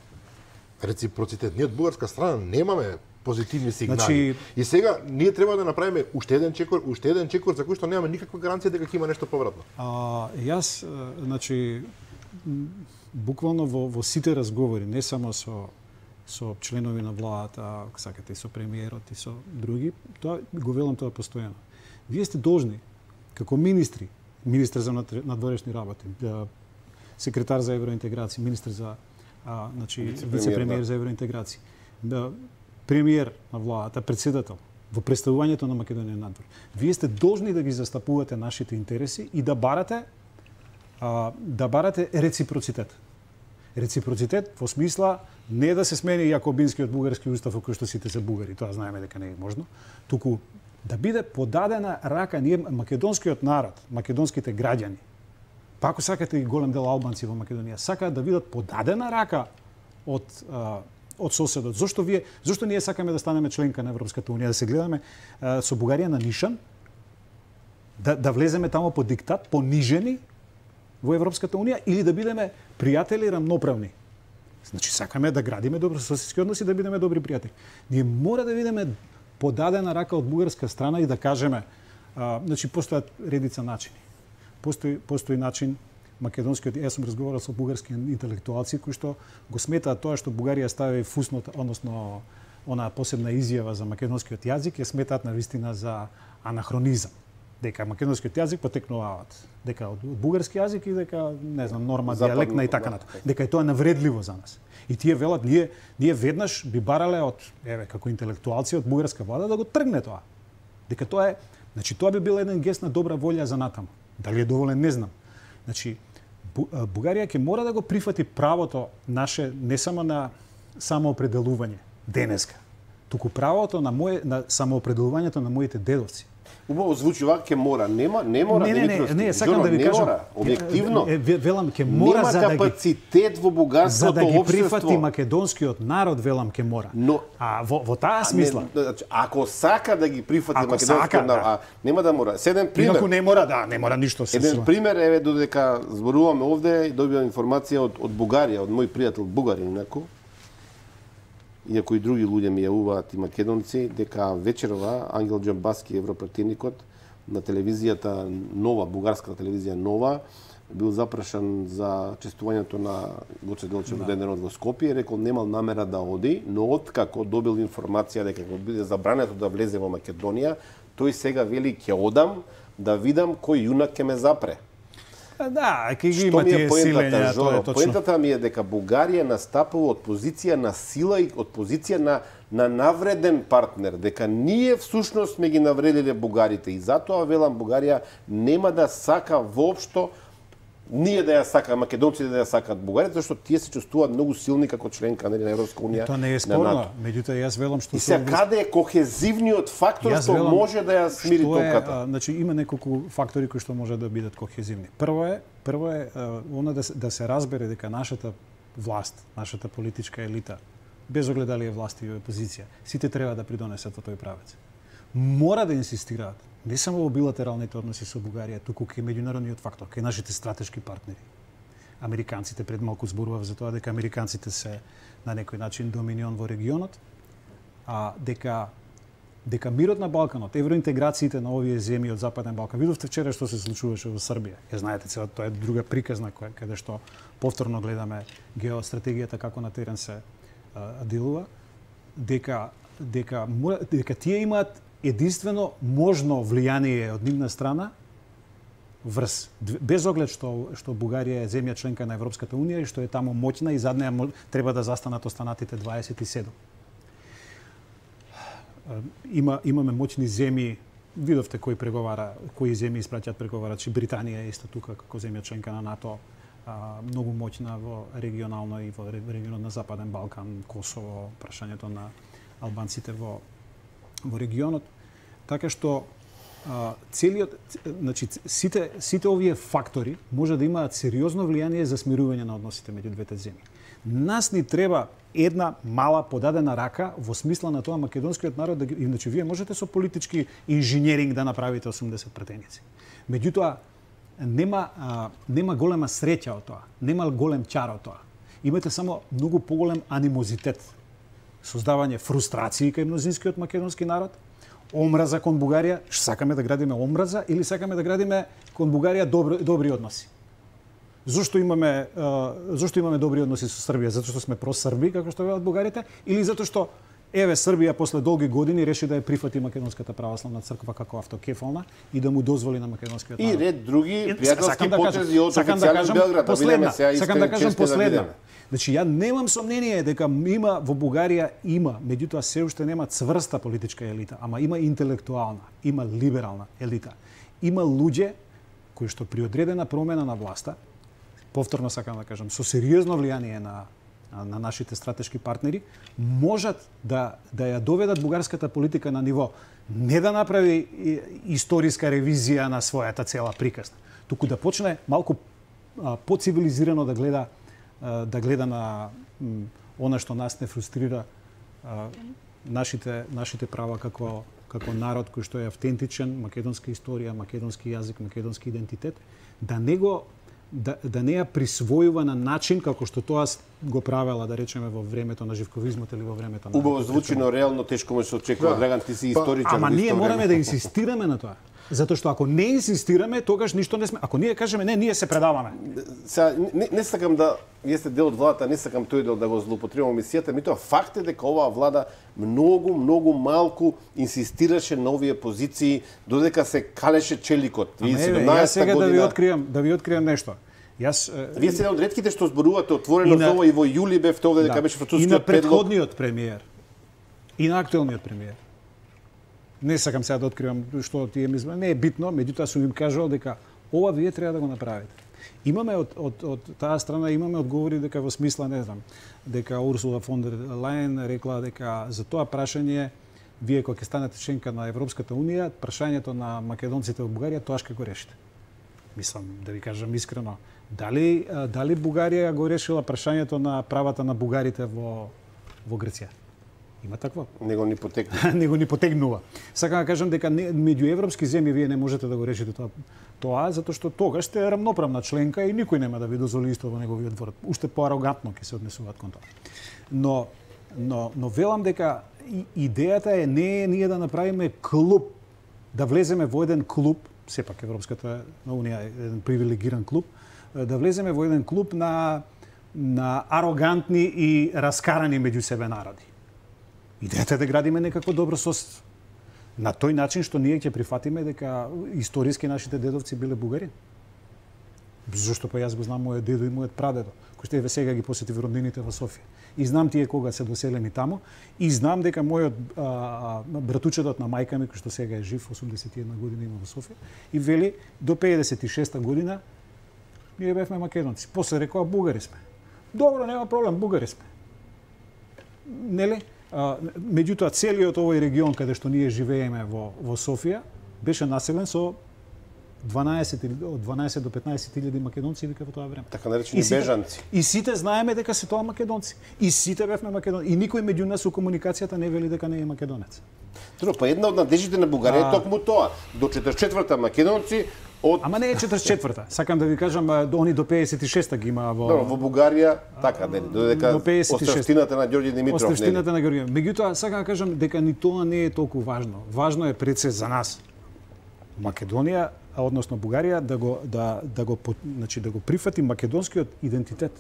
S1: реципроцитет, ние од бугарска страна немаме позитивни сигнали. Значи... И сега ние треба да направиме уште еден чекор, уште еден чекор за кој што немаме никаква гаранција дека ќе има нешто повратно.
S2: А, јас, значи, буквално во, во сите разговори, не само со со членови на владата, ако сакате, и со премиерот и со други, тоа го велам тоа постојано. Вие сте должни како министри, министар за надворешни работи, секретар за евроинтеграција, министар за а, значи вице-премиер да. за евроинтеграција, да, премиер на владата, председател во представувањето на Македонија надвор. Вие сте должни да ги застапувате нашите интереси и да барате а, да барате реципроцитет. Реципроцитет во смисла не да се смени Јакобинскиот бугарски устав во кој што сите се бугари, тоа знаеме дека не е можно, туку да биде подадена рака ние македонскиот народ, македонските граѓани. Па ако сакате и голем дел албанци во Македонија сакаат да видат подадена рака од а, од соседот. Зошто вие зошто ние сакаме да станеме членка на Европската унија, да се гледаме а, со Бугарија на нишан, да да влеземе таму по диктат, понижени во Европската унија или да бидеме пријатели рамноправни. Значи сакаме да градиме добрососедски односи, да бидеме добри пријатели. Ние мора да видиме подадена рака од бугарска страна и да кажеме, а, значи постојат редица начини. Постои постои начин македонскиот, јас сум разговарал со бугарски интелектуалци кои што го сметаат тоа што Бугарија стави фуснот, односно она посебна изјава за македонскиот јазик, ја сметаат навистина за анахронизам. Дека македонскиот јазик потекнуваат дека од бугарски јазик и дека не знам норма дијалектна и така натаму. Дека е тоа навредливо за нас. И тие велат ние ние веднаш би барале од еве како интелектуалци од бугарска влада да го тргне тоа. Дека тоа е, значи тоа би бил еден гест на добра волја за натаму. Дали е доволен не знам. Значи Бугарија ќе мора да го прифати правото наше не само на самоопределување денеска, туку правото на моје на самоопределувањето на моите дедовци.
S3: Убаво звучи вака, ќе мора, нема, не мора,
S2: не, не, не, не, сакам да ви
S3: не
S2: кажам,
S3: мора, објективно.
S2: Е, велам ќе мора
S3: нема
S2: за да
S3: капацитет
S2: ги,
S3: во бугарското
S2: за да ги
S3: општество.
S2: прифати македонскиот народ, велам ќе мора.
S3: Но
S2: а во во таа смисла,
S3: не, значи, ако сака да ги прифати
S2: ако
S3: македонскиот
S2: сака,
S3: народ,
S2: да.
S3: а нема да мора. Седен пример.
S2: Инаку не мора, да, не мора ништо се.
S3: Еден пример еве додека зборуваме овде и добивам информација од од Бугарија, од мој пријател бугарин инаку. Иако и други луѓе ми јавуваат и македонци дека вечерова Ангел Џамбаски, европративникот, на телевизијата Нова, бугарската телевизија Нова, бил запрашан за честувањето на Гоце Делчев да. денот во Скопје, рекол немал намера да оди, но откако добил информација дека ќе биде забрането да влезе во Македонија, тој сега вели ќе одам да видам кој јунак ќе ме запре.
S2: Да, ќе ги има тие силења, тоа е точно.
S3: Поентата ми е дека Бугарија настапува од позиција на сила и од позиција на на навреден партнер, дека ние всушност сме ги навредиле бугарите и затоа велам Бугарија нема да сака воопшто ние да ја сака македонците да ја сакаат бугарите, зашто тие се чувствуваат многу силни како членка на Европска унија.
S2: Тоа не е спорно, меѓутоа јас велам што
S3: и се каде е кохезивниот фактор што велам, може да ја смири толката.
S2: Значи има неколку фактори кои што може да бидат кохезивни. Прво е, прво е она да се, да се разбере дека нашата власт, нашата политичка елита, без оглед дали е власт или опозиција, сите треба да придонесат во тој правец. Мора да инсистираат не само во билатералните односи со Бугарија, туку кај меѓународниот фактор, кај нашите стратешки партнери. Американците пред малку зборував за тоа дека американците се на некој начин доминион во регионот, а дека дека мирот на Балканот, евроинтеграциите на овие земји од Западен Балкан. Видовте вчера што се случуваше во Србија. Ја знаете, сега тоа е друга приказна која каде што повторно гледаме геостратегијата како на терен се а, делува, дека дека дека тие имаат единствено можно влијание од нивна страна врз без оглед што што Бугарија е земја членка на Европската унија и што е таму моќна и зад неа треба да застанат останатите дваесет и седум. Има имаме моќни земји, видовте кои преговара, кои земји испраќаат преговарачи, Британија е исто тука како земја членка на НАТО, а, многу моќна во регионално и во регионот на Западен Балкан, Косово, прашањето на албанците во во регионот. Така што а, целиот, значи сите сите овие фактори може да имаат сериозно влијание за смирување на односите меѓу двете земји. Нас ни треба една мала подадена рака во смисла на тоа македонскиот народ, да, иначе вие можете со политички инженеринг да направите осумдесет претеници. Меѓутоа, нема, а, нема голема среќа од тоа, нема голем чар од тоа. Имате само многу поголем анимозитет, создавање фрустрации кај мнозинскиот македонски народ, омраза кон Бугарија, што сакаме да градиме омраза или сакаме да градиме кон Бугарија добри, добри односи. Зошто имаме зошто имаме добри односи со Србија? Затоа што сме просрби, како што велат бугарите, или затоа што еве Србија после долги години реши да ја прифати македонската православна црква како автокефална и да му дозволи на македонскиот народ.
S3: И ред други
S2: пријателски
S3: да потези од официјален Белград, да видиме сега
S2: сакам да кажам последна.
S3: Да
S2: Значи, ја немам сомнение дека има во Бугарија има, меѓутоа се уште нема цврста политичка елита, ама има интелектуална, има либерална елита. Има луѓе кои што при одредена промена на власта, повторно сакам да кажам, со сериозно влијание на на нашите стратешки партнери, можат да да ја доведат бугарската политика на ниво не да направи историска ревизија на својата цела приказна, туку да почне малку поцивилизирано да гледа да гледа на она што нас не фрустрира, нашите нашите права како како народ кој што е автентичен, македонска историја, македонски јазик, македонски идентитет, да не го да, да не ја присвојува на начин како што тоа го правела, да речеме, во времето на Живковизмот или во времето на...
S3: Убаво звучи, но реално тешко може се очекува. Да. Драган, ти си историчар.
S2: Ама ние мораме да инсистираме на тоа. Затоа што ако не инсистираме, тогаш ништо не сме. Ако ние кажеме не, ние се предаваме.
S3: Сега не, не сакам да вие сте дел од владата, не сакам тој дел да го злоупотребувам мисијата, ми тоа факт е дека оваа влада многу многу малку инсистираше на овие позиции додека се калеше челикот.
S2: Ама еве, јас сега година... да ви откриам, да ви откриам нешто. Јас
S3: Вие сте од ретките што зборувате отворено за ова и во јули бевте овде дека
S2: да,
S3: беше францускиот предлог.
S2: И на претходниот премиер. И на актуелниот премиер. Не сакам сега да откривам што тие ми не е битно, меѓутоа сум им кажал дека ова вие треба да го направите. Имаме од од од таа страна имаме одговори дека во смисла не знам, дека Урсула фон дер Лајен рекла дека за тоа прашање вие кога ќе станете членка на Европската унија, прашањето на македонците во Бугарија тоа ќе го решите. Мислам да ви кажам искрено, дали дали Бугарија го решила прашањето на правата на бугарите во во Грција? Има такво.
S3: Него ни потекнува.
S2: Него ни потегнува. Сакам да кажам дека не, меѓу европски земји вие не можете да го решите тоа, тоа затоа што тогаш сте рамноправна членка и никој нема да ви дозволи исто во неговиот двор. Уште поарогантно ќе се однесуваат кон тоа. Но но но велам дека и, идејата е не е ние да направиме клуб, да влеземе во еден клуб, сепак Европската унија е еден привилегиран клуб, да влеземе во еден клуб на на арогантни и раскарани меѓу себе народи. Идејата е да градиме некакво добро соседство. На тој начин што ние ќе прифатиме дека историски нашите дедовци биле бугари. Зошто па јас го знам мојот дедо и мојот прадедо, кои што еве сега ги посетив роднините во Софија. И знам тие кога се доселени таму, и знам дека мојот а, братучедот на мајка ми, кој што сега е жив, осумдесет и една година има во Софија, и вели до пеесет и шеста година ние бевме македонци. После рекоа бугари сме. Добро, нема проблем, бугари сме. Нели? Uh, меѓутоа целиот овој регион каде што ние живееме во во Софија беше населен со дванаесет од дванаесет до петнаесет илјади македонци вика во тоа време.
S3: Така наречени бежанци.
S2: И сите знаеме дека се тоа македонци. И сите бевме македонци. И никој меѓу нас во комуникацијата не вели дека не е македонец.
S3: Тро, па една од надеждите на Бугарија е токму тоа. До четиридесет и четврта македонци од...
S2: Ама не е четиридесет и четврта. Сакам да ви кажам, они до пеесет и шеста ги има во...
S3: Добро, во Бугарија, така, нели, додека оставштината на Ѓорѓе Димитров, нели?
S2: Оставштината на Ѓорѓе. Меѓутоа, сакам да кажам дека ни тоа не е толку важно. Важно е пред се за нас. Македонија, односно Бугарија, да го, да, да го, значи, да го прифати македонскиот идентитет.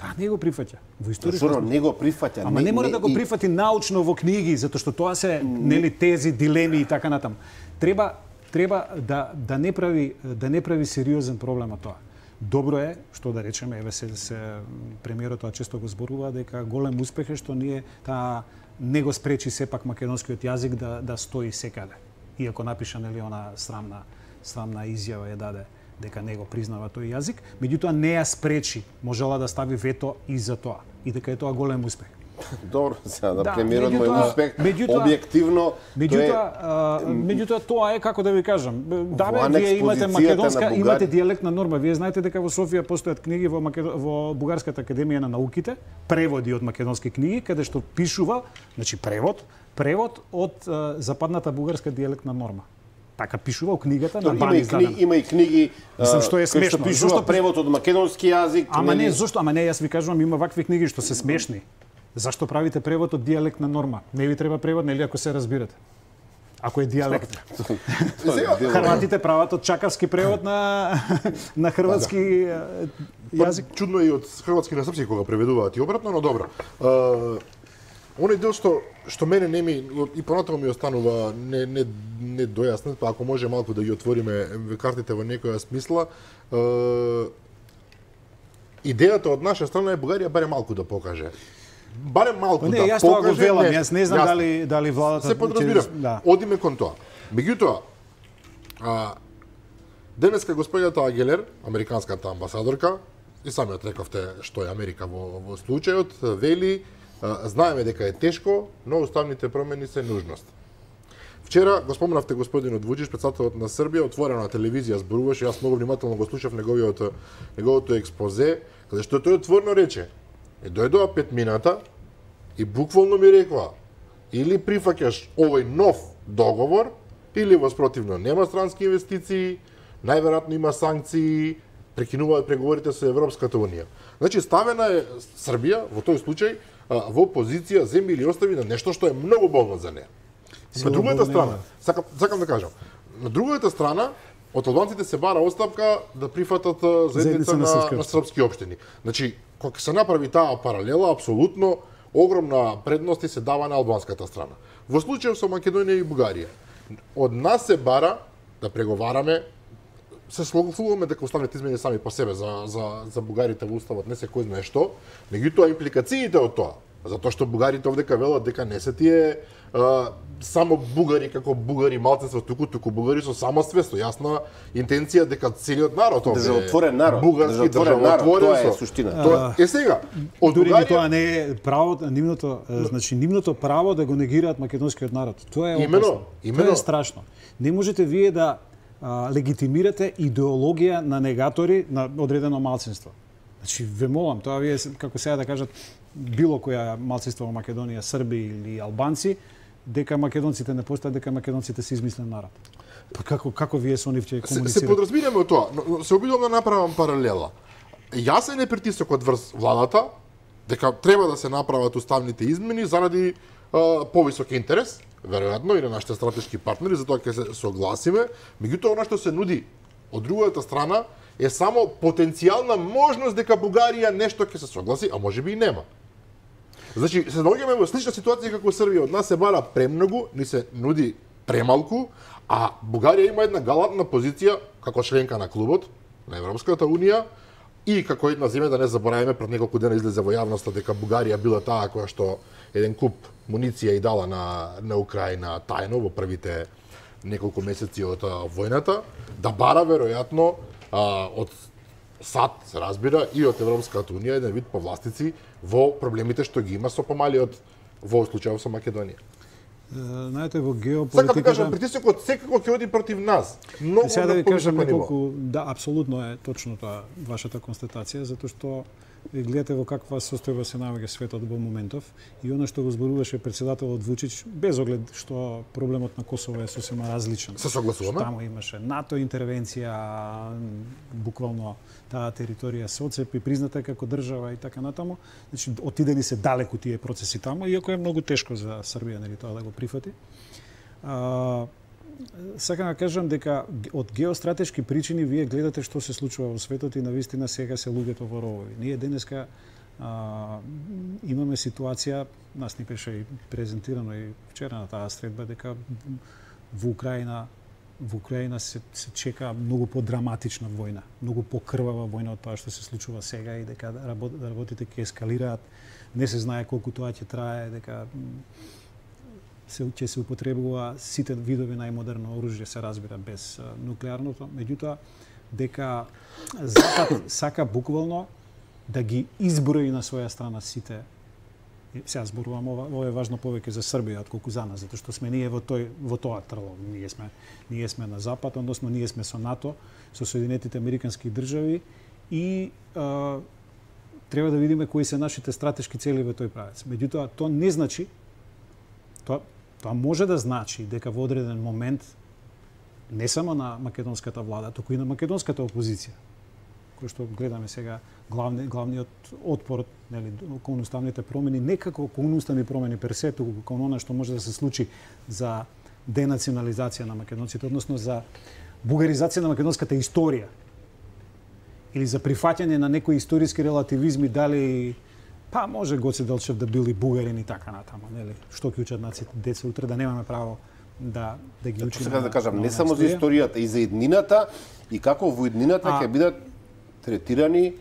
S2: Таа не го прифаќа. Во историјата
S3: Зашто не го прифаќа?
S2: Ама не, не мора не, да го прифати и... научно во книги, затоа што тоа се нели тези дилеми и така натаму. Треба треба да да не прави да не прави сериозен проблем од тоа. Добро е што да речеме, еве се, се премиерот тоа често го зборува дека голем успех е што ние таа не го спречи сепак македонскиот јазик да да стои секаде. Иако напиша нели она срамна срамна изјава ја даде дека не го признава тој јазик, меѓутоа не ја спречи, можела да стави вето и за тоа, и дека е тоа голем успех.
S3: Добро, сега да,
S2: Да,
S3: премиерот му е
S2: меѓутоа-
S3: успех,
S2: меѓутоа-
S3: објективно,
S2: Меѓутоа, а, меѓутоа тоа е како да ви кажам. Да бе,
S3: Во
S2: вие имате
S3: анекс
S2: македонска,
S3: позицијата на
S2: имате
S3: Бугари-
S2: дијалектна норма. Вие знаете дека во Софија постојат книги во Македо... во Бугарската академија на науките, преводи од македонски книги каде што пишува, значи превод, превод од а, западната бугарска дијалектна норма. Така пишува во книгата на
S3: има
S2: Бани
S3: и книги,
S2: издадена.
S3: има и книги
S2: Мислам,
S3: а,
S2: што е
S3: кои што
S2: смешно.
S3: пишува
S2: Зошто-
S3: превод од македонски јазик.
S2: Ама не,
S3: нели?
S2: зошто? Ама не, јас ви кажувам, има вакви книги што се смешни. Зашто правите превод од дијалектна норма? Не ви треба превод, нели, ако се разбирате? Ако е дијалект.
S3: Сега,
S2: Хрватите прават од чакавски превод на на хрватски е, јазик.
S1: Чудно е и од хрватски на српски кога преведуваат и обратно, но добро. Uh, оној дел што што мене не ми и понатаму ми останува не не не дојаснет, па ако може малку да ги отвориме картите во некоја смисла, uh, идејата од наша страна е Бугарија барем малку да покаже. Барем малку
S2: Не,
S1: да
S2: јас тоа го
S1: покаже.
S2: велам,
S1: нешто.
S2: јас не знам
S1: Јасно.
S2: дали дали владата
S1: Се подразбирам.
S2: Да.
S1: Одиме кон тоа. Меѓутоа, а, денеска господјата Агелер, американската амбасадорка, и самиот рековте што е Америка во, во случајот, вели, а, знаеме дека е тешко, но уставните промени се нужност. Вчера го спомнавте господинот Вуџич, председателот на Србија, отворено на телевизија зборуваше, јас многу внимателно го слушав неговиот неговото експозе, каде што тој отворено рече: е дојдоа пет мината и буквално ми рекоа: или прифаќаш овој нов договор, или воспротивно нема странски инвестиции, најверојатно има санкции, прекинуваат преговорите со Европската унија. Значи ставена е Србија во тој случај а, во позиција земји или остави на нешто што е многу болно за неа. На
S2: Силно
S1: другата
S2: болно
S1: страна,
S2: има.
S1: сакам, сакам да кажам, на другата страна од албанците се бара оставка да прифатат а, заедница
S2: Заедница на
S1: на,
S2: српски
S1: на српски општини. Значи, кога се направи таа паралела, апсолутно огромна предност се дава на албанската страна. Во случајот со Македонија и Бугарија, од нас се бара да преговараме, се согласуваме дека уставните измени сами по себе за, за, за бугарите во уставот не се кој знае што, меѓутоа импликациите од тоа, затоа што бугарите овдека велат дека не се тие а, само бугари како бугари малцинство, туку туку бугари со самоствест, со јасна интенција дека целиот народ овде е
S3: Државотворен народ,
S1: бугарски
S3: државотворен народ,
S1: државотворен
S3: тоа е
S1: со-
S3: суштина.
S1: Тоа е сега. Од
S2: Дури и
S1: Бугарија
S2: тоа не е право, нивното, е, значи нивното право да го негираат македонскиот народ. Тоа е
S1: Имено,
S2: опасно.
S1: имено.
S2: Тоа е страшно. Не можете вие да а, легитимирате идеологија на негатори на одредено малцинство. Значи, ве молам, тоа вие, како сега да кажат, било која малцинство во Македонија, Срби или албанци, дека македонците не постојат, дека македонците се измислен народ. Па како како вие со нив ќе
S1: се, се
S2: комуницирате?
S1: подразбираме од тоа, но но се обидувам да направам паралела. Јасен е притисокот врз владата дека треба да се направат уставните измени заради а, повисок интерес, веројатно и на нашите стратешки партнери, затоа ќе се согласиме, меѓутоа она што се нуди од другата страна е само потенцијална можност дека Бугарија нешто ќе се согласи, а можеби и нема. Значи, се наоѓаме во слична ситуација како Србија. Од нас се бара премногу, ни се нуди премалку, а Бугарија има една галантна позиција како членка на клубот на Европската унија и како една земја, да не забораваме, пред неколку дена излезе во јавноста дека Бугарија била таа која што еден куп муниција и дала на на Украина тајно во првите неколку месеци од а, војната, да бара веројатно а, од САД, се разбира, и од Европската унија еден вид повластици во проблемите што ги има со помалиот во случајот со Македонија.
S2: Е, Знаете, во
S1: Сакам да кажам,
S2: геополитиката...
S1: притисокот секако ќе оди против нас. Многу
S2: Сега да ви
S1: на
S2: кажам
S1: повисоко ниво.
S2: неколку, да, апсолутно е точно тоа вашата констатација, затоа што ви гледате во каква состојба се наоѓа светот во моментов и она што го зборуваше председателот Вучич, без оглед што проблемот на Косово е сосема различен.
S1: Се согласуваме?
S2: Таму имаше НАТО интервенција, буквално таа територија се оцепи, призната како држава и така натаму. Значи, отидени се далеку тие процеси таму, иако е многу тешко за Србија, нели, тоа да го прифати. А, сакам да кажам дека од геостратешки причини вие гледате што се случува во светот и навистина сега се луѓето во ровови. Ние денеска а, имаме ситуација, нас ни беше и презентирано и вчера на таа средба, дека во Украина во Украина се, се чека многу подраматична војна, многу покрвава војна од тоа што се случува сега и дека работ, работите ќе ескалираат. Не се знае колку тоа ќе трае, дека се ќе се употребува сите видови најмодерно оружје, се разбира, без а, нуклеарното, меѓутоа дека Запад сака буквално да ги изброи на своја страна сите Сега зборувам ова, ова е важно повеќе за Србија отколку за нас, затоа што сме ние во тој во тоа трlo. Ние сме ние сме на запад, односно ние сме со НАТО, со Соединетите Американски држави и а, треба да видиме кои се нашите стратешки цели во тој правец. Меѓутоа, тоа не значи тоа тоа може да значи дека во одреден момент не само на македонската влада, туку и на македонската опозиција, кој што гледаме сега главни, главниот отпор, нели, кон уставните промени, не како кон уставни промени персе, туку кон она што може да се случи за денационализација на македонците, односно за бугаризација на македонската историја или за прифаќање на некои историски релативизми, дали па може Гоце Делчев да били бугарин и така натаму, нели? Што ќе учат наците деца утре, да немаме право да да ги учиме.
S3: Сега да кажам, не само за историјата, и за еднината, и како во еднината ќе бидат третирани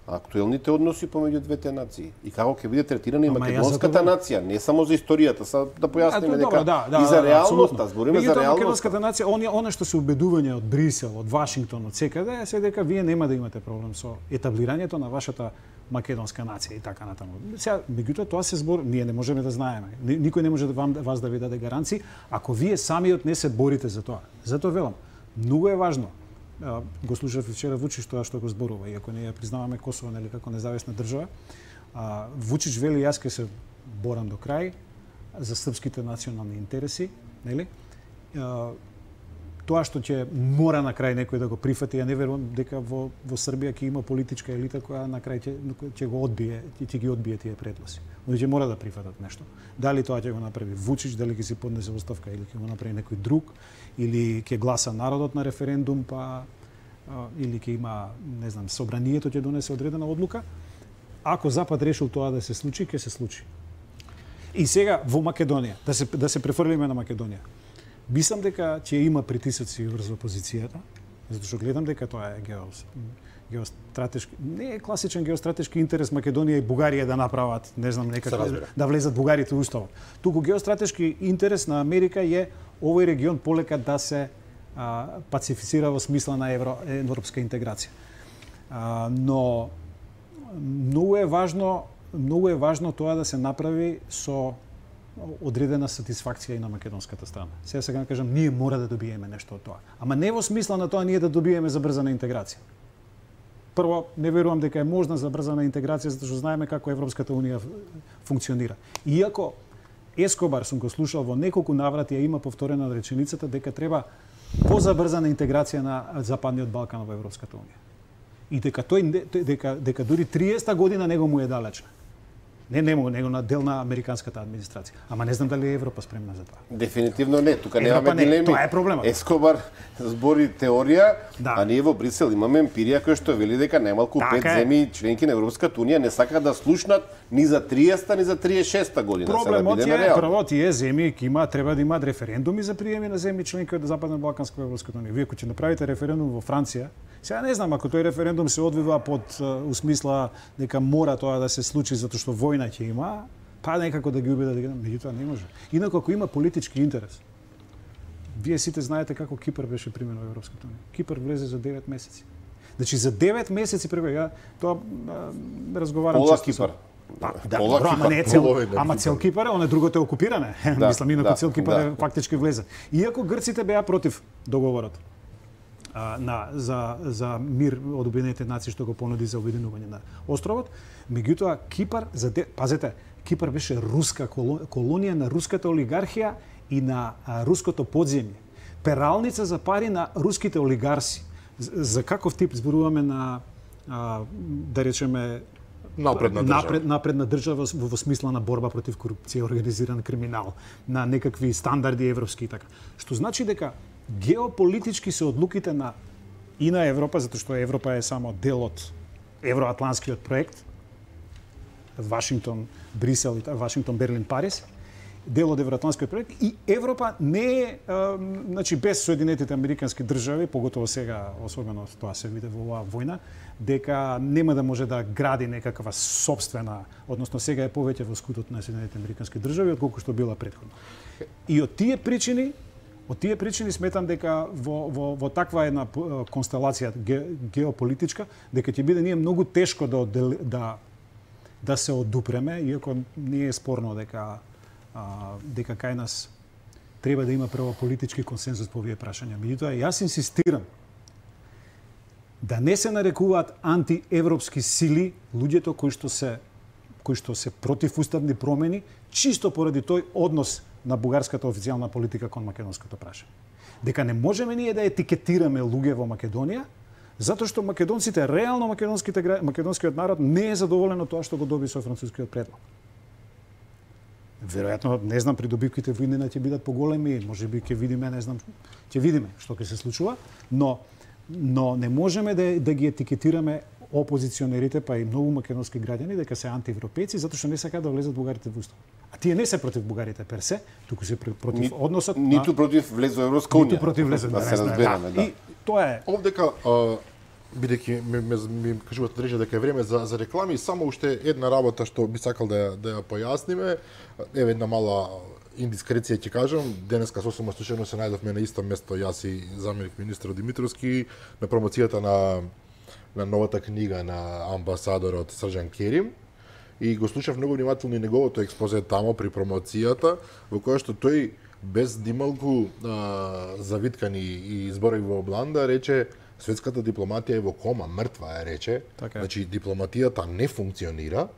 S3: актуелните односи помеѓу двете нации и како ќе биде третирана и македонската нација, не само за историјата, са да појасниме дека
S2: да, да,
S3: и за
S2: да,
S3: реалноста, збориме за реалноста.
S2: Македонската нација, она, она што се убедување од Брисел, од Вашингтон, од секаде, е се дека вие нема да имате проблем со етаблирањето на вашата македонска нација и така натаму. Сега, меѓутоа тоа се збор, ние не можеме да знаеме. Никој не може да вам вас да ви даде гаранции ако вие самиот не се борите за тоа. Затоа велам, многу е важно. Го слушав вчера Вучич тоа што го зборува, иако ние признаваме Косово, нели, како независна држава. А, Вучич вели јас ќе се борам до крај за српските национални интереси, нели? А, тоа што ќе мора на крај некој да го прифати, ја не верувам дека во во Србија ќе има политичка елита која на крај ќе ќе го одбие, ќе ги одбие тие предлози. Они ќе мора да прифатат нешто. Дали тоа ќе го направи Вучич, дали ќе си поднесе оставка или ќе го направи некој друг, или ќе гласа народот на референдум, па а, или ќе има, не знам, собранието ќе донесе одредена одлука. Ако Запад решил тоа да се случи, ќе се случи. И сега во Македонија, да се да се префрлиме на Македонија. Мислам дека ќе има притисоци врз опозицијата, затоа што гледам дека тоа е геос, геостратешки, не е класичен геостратешки интерес Македонија и Бугарија да направат, не знам, некако да влезат бугарите во уставот. Туку геостратешки интерес на Америка е овој регион полека да се а, пацифицира во смисла на евро, европска интеграција. А, но многу е важно, многу е важно тоа да се направи со одредена сатисфакција и на македонската страна. Сега сега да кажам, ние мора да добиеме нешто од тоа. Ама не во смисла на тоа ние да добиеме забрзана интеграција. Прво, не верувам дека е можна забрзана интеграција, затоа што знаеме како Европската унија функционира. Иако Ескобар сум го слушал во неколку наврати, ја има повторена реченицата дека треба позабрзана интеграција на Западниот Балкан во Европската унија. И дека тој дека дека дури триесета година него му е далечна. Не нему, него на дел на американската администрација. Ама не знам дали е Европа спремна за тоа.
S3: Дефинитивно не, тука немаме дилеми.
S2: Тоа е проблемот.
S3: Ескобар збори теорија,
S2: да.
S3: А ние во Брисел имаме емпирија која што вели дека најмалку
S2: така
S3: пет земји членки на Европската унија не сакаат да слушнат ни за триесета ни за триесет и шеста година.
S2: Проблемот е, прво тие земји ќе има треба да имаат референдуми за приеми на земји членки од Западна Балканска Европската унија. Вие кога ќе направите референдум во Франција, сега не знам ако тој референдум се одвива под усмисла дека мора тоа да се случи затоа што војна ќе има, па некако да ги убедат дека меѓутоа не може. Инаку ако има политички интерес, вие сите знаете како Кипар беше пример во Европската унија. Кипар влезе за девет месеци. Значи за девет месеци прво ја тоа разговарам
S3: Пола
S2: често.
S3: Кипар.
S2: Па, да,
S3: Пола
S2: бро, ама
S3: Кипар.
S2: не е цел,
S1: Половина
S2: ама
S1: Кипар.
S2: цел Кипар, он е другото е окупиране.
S3: Да,
S2: Мислам, инаку
S3: да,
S2: цел Кипар
S3: да.
S2: е фактички влезе. Иако грците беа против договорот а, на за за мир од Обединетите нации што го понуди за обединување на островот, меѓутоа Кипар за де... пазете, Кипар беше руска колонија на руската олигархија и на а, руското подземје. Пералница за пари на руските олигарси. За, за каков тип зборуваме на а, да речеме
S1: Напредна држава.
S2: Напред, напредна држава во, во смисла на борба против корупција, организиран криминал, на некакви стандарди европски и така. Што значи дека геополитички се одлуките на и на Европа, затоа што Европа е само дел од евроатланскиот проект, Вашингтон, Брисел, Вашингтон, Берлин, Париз, дел од евроатланскиот проект и Европа не е, а, значи без Соединетите Американски држави, поготово сега, особено тоа се види во оваа војна, дека нема да може да гради некаква собствена, односно сега е повеќе во скутот на Соединетите Американски држави отколку што била претходно. И од тие причини, од тие причини сметам дека во во во таква една констелација ге, геополитичка, дека ќе биде ние многу тешко да оддел, да да се одупреме, иако не е спорно дека а, дека кај нас треба да има прво политички консензус по овие прашања. Меѓутоа, јас инсистирам да не се нарекуваат антиевропски сили луѓето кои што се кои што се против уставни промени, чисто поради тој однос на бугарската официјална политика кон македонското прашање. Дека не можеме ние да етикетираме луѓе во Македонија, затоа што македонците, реално македонските македонскиот народ не е задоволен од тоа што го доби со францускиот предлог. Веројатно, не знам, придобивките во иднина ќе бидат поголеми, можеби ќе видиме, не знам, ќе видиме што ќе се случува, но но не можеме да, да ги етикетираме опозиционерите, па и многу македонски граѓани дека се антиевропејци затоа што не сакаат да влезат бугарите во устав. А тие не се против бугарите персе, туку се против Ни, односот
S3: ниту на... против влез во Европска унија.
S2: Ниту против влез во
S3: да се разбереме, да.
S2: И тоа е.
S1: Овдека бидејќи ми, ми, ми кажуваат рече дека е време за за реклами, само уште една работа што би сакал да да ја појасниме, еве една мала индискреција ќе кажам, денеска сосема случајно се најдовме на исто место јас и заменик министер Димитровски на промоцијата на на новата книга на амбасадорот Срđan Керим и го слушав многу внимателно и неговото експозе тамо при промоцијата, во која што тој без дималку а, завиткани и зборови во обланда рече светската дипломатија е во кома, мртва е рече.
S2: Така.
S1: Значи дипломатијата не функционира.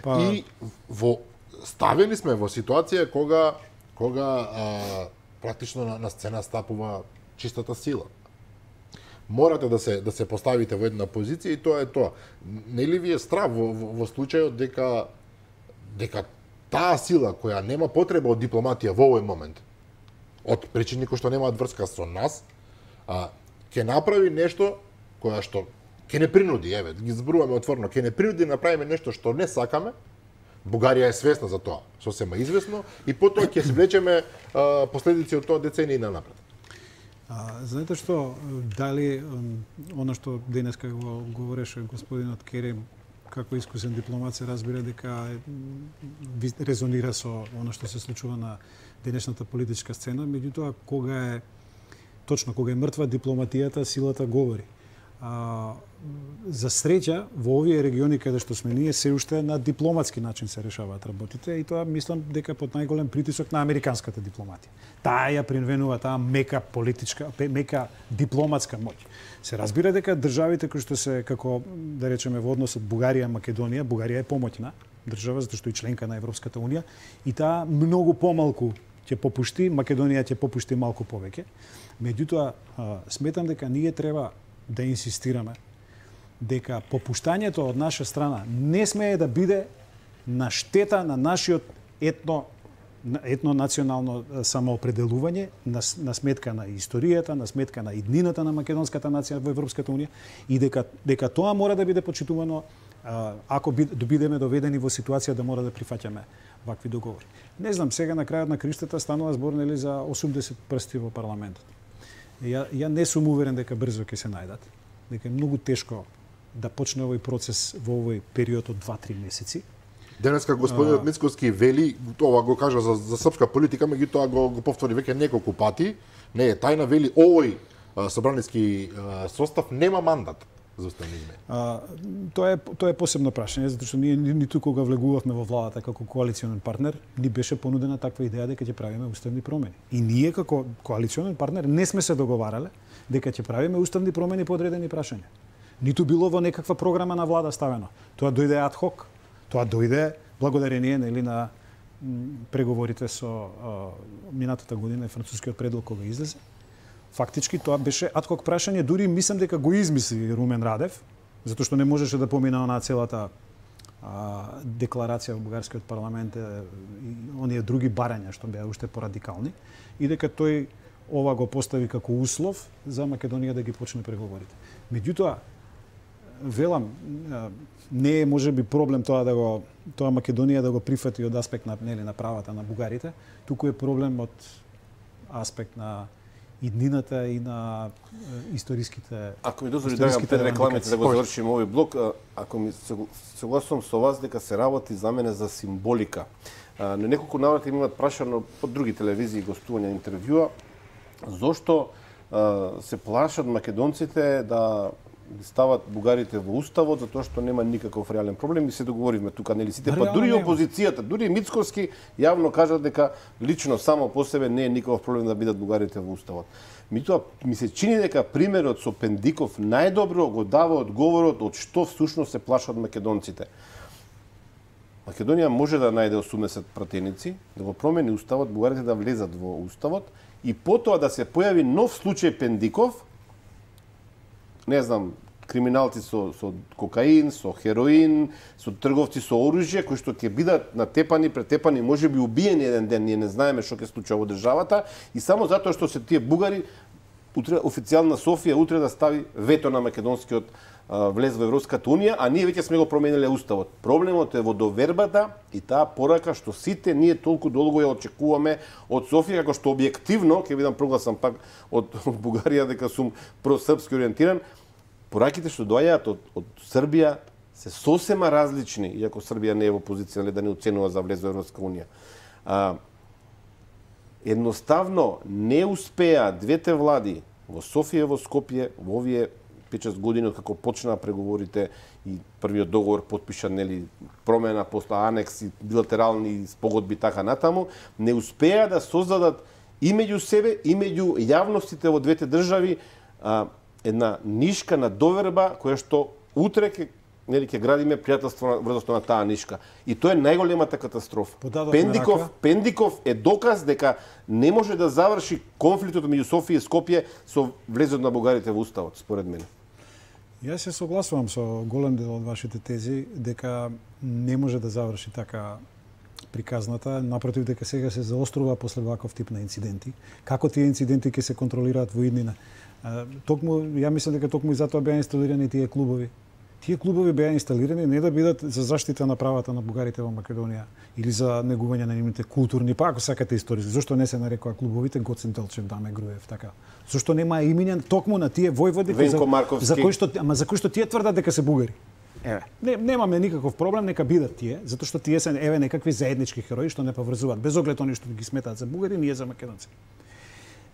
S2: Па...
S1: И во ставени сме во ситуација кога кога а, практично на, на сцена стапува чистата сила. Морате да се да се поставите во една позиција и тоа е тоа. Нели ви е страв во, во, во случајот дека дека таа сила која нема потреба од дипломатија во овој момент, од причини кои што немаат врска со нас, а ќе направи нешто која што ќе не принуди, еве, ги зборуваме отворено, ќе не принуди да направиме нешто што не сакаме. Бугарија е свесна за тоа, сосема известно, и потоа ќе се влечеме а, последици од тоа децении напред.
S2: А, знаете што, дали она што денеска го говореше господинот Керим, како искусен дипломат, се разбира дека резонира со она што се случува на денешната политичка сцена, меѓутоа кога е точно кога е мртва дипломатијата, силата говори. А, за среќа во овие региони каде што сме ние се уште на дипломатски начин се решаваат работите и тоа мислам дека под најголем притисок на американската дипломатија. Таа ја принвенува таа мека политичка, мека дипломатска моќ. Се разбира дека државите кои што се како да речеме во односот Бугарија Македонија, Бугарија е помоќна држава затоа што е членка на Европската унија и таа многу помалку ќе попушти, Македонија ќе попушти малку повеќе. Меѓутоа сметам дека ние треба да инсистираме дека попуштањето од наша страна не смее да биде на штета на нашиот етно етно-национално самоопределување, на, на сметка на историјата, на сметка на иднината на македонската нација во Европската унија и дека дека тоа мора да биде почитувано ако бидеме доведени во ситуација да мора да прифаќаме вакви договори. Не знам, сега на крајот на криштата станува збор нели за осумдесет прсти во парламентот. Ја, ја не сум уверен дека брзо ќе се најдат, дека е многу тешко да почне овој процес во овој период од два-три месеци.
S1: Денеска господинот Мицковски вели, тоа го кажа за, за српска политика, меѓутоа го, го повтори веќе неколку пати, не е тајна, вели овој а, собраниски а, состав нема мандат за уставни измени.
S2: А, тоа е тоа е посебно прашање, затоа што ние ниту кога влегувавме во владата како коалиционен партнер, ни беше понудена таква идеја дека ќе правиме уставни промени. И ние како коалиционен партнер не сме се договарале дека ќе правиме уставни промени по одредени прашања. Ниту било во некаква програма на влада ставено. Тоа дојде ад хок. Тоа дојде благодарение нели на преговорите со а, минатата година и францускиот предлог кога излезе. Фактички тоа беше ад хок прашање, дури мислам дека го измисли Румен Радев, затоа што не можеше да помине на целата а, декларација во бугарскиот парламент и оние други барања што беа уште порадикални и дека тој ова го постави како услов за Македонија да ги почне преговорите. Меѓутоа, велам, не е можеби проблем тоа да го тоа Македонија да го прифати од аспект на нели на правата на бугарите, туку е проблем од аспект на иднината и на е, историските.
S3: Ако ми дозволи да пред рекламите да го завршим овој блок, ако ми согласувам со вас дека се работи за мене за символика. На неколку наврати имаат прашано по други телевизии гостувања интервјуа зошто се плашат македонците да стават бугарите во уставот затоа што нема никаков реален проблем и се договоривме тука, нели сите, па
S2: Реално
S3: дури
S2: нема.
S3: опозицијата, дури Мицкоски јавно кажа дека лично само по себе не е никаков проблем да бидат бугарите во уставот. Митоа ми се чини дека примерот со Пендиков најдобро го дава одговорот од што всушност се плашат македонците. Македонија може да најде осумдесет пратеници, да го промени уставот, бугарите да влезат во уставот и потоа да се појави нов случај Пендиков, не знам, криминалци со, со кокаин, со хероин, со трговци со оружје, кои што ќе бидат натепани, претепани, може би убиени еден ден, ние не знаеме што ќе случи во државата, и само затоа што се тие бугари, утре официјална Софија утре да стави вето на македонскиот а, влез во Европската унија, а ние веќе сме го промениле уставот. Проблемот е во довербата и таа порака што сите ние толку долго ја очекуваме од Софија, како што објективно, ќе видам прогласам пак од, од Бугарија дека сум просрпски ориентиран, пораките што доаѓаат од, од Србија се сосема различни, иако Србија не е во позиција да не оценува за влез во Европска унија. А, едноставно не успеа двете влади во Софија и во Скопје во овие пет-шест години од како почнаа преговорите и првиот договор потпишан, нели, промена после анекс и билатерални спогодби така натаму, не успеа да создадат и меѓу себе и меѓу јавностите во двете држави а, една нишка на доверба која што утре ќе нели ќе градиме пријателство врз основа на таа нишка. И тоа е најголемата катастрофа. Пендиков, Пендиков е доказ дека не може да заврши конфликтот меѓу Софија и Скопје со влезот на бугарите во уставот, според мене.
S2: Јас се согласувам со голем дел од вашите тези дека не може да заврши така приказната, напротив дека сега се заострува после ваков тип на инциденти. Како тие инциденти ќе се контролираат во иднина? Токму, ја мислам дека токму и затоа беа инсталирани тие клубови. Тие клубови беа инсталирани не да бидат за заштита на правата на бугарите во Македонија или за негување на нивните културни, па ако сакате историски. Зошто не се нарекува клубовите Гоцен Делчев, Даме Груев, така? Зошто нема именен токму на тие војводи
S3: за,
S2: за кои што ама за кои што тие тврдат дека се бугари? Еве, не, немаме никаков проблем, нека бидат тие, затоа што тие се еве некакви заеднички херои што не поврзуваат без оглед они што ги сметаат за бугари, ние за македонци.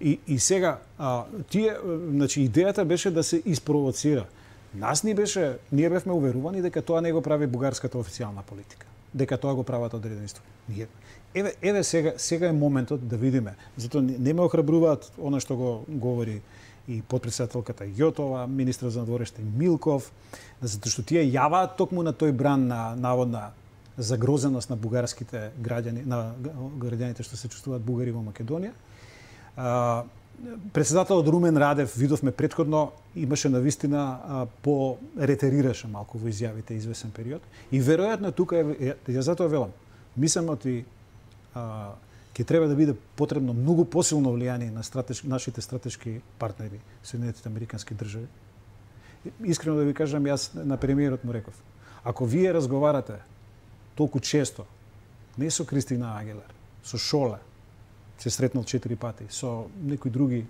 S2: И, и сега, а, тие, значи, идејата беше да се испровоцира. Нас ни беше, ние бевме уверувани дека тоа не го прави бугарската официјална политика, дека тоа го прават одреденство. Ние, еве, еве сега, сега е моментот да видиме. Затоа не ме охрабруваат она што го говори и подпредседателката Јотова, министрот за надвореште Милков, затоа што тие јаваат токму на тој бран на наводна загрозеност на бугарските граѓани, на граѓаните што се чувствуваат бугари во Македонија. А, председателот Румен Радев, видовме претходно, имаше навистина по ретерираше малку во изјавите извесен период и веројатно тука е, ја затоа велам, мислам и а, ќе треба да биде потребно многу посилно влијание на стратеш, нашите стратешки партнери, Соединетите Американски држави. Искрено да ви кажам, јас на премиерот му реков, ако вие разговарате толку често, не со Кристина Агилер, со Шоле, се сретнал четири пати, со некои други,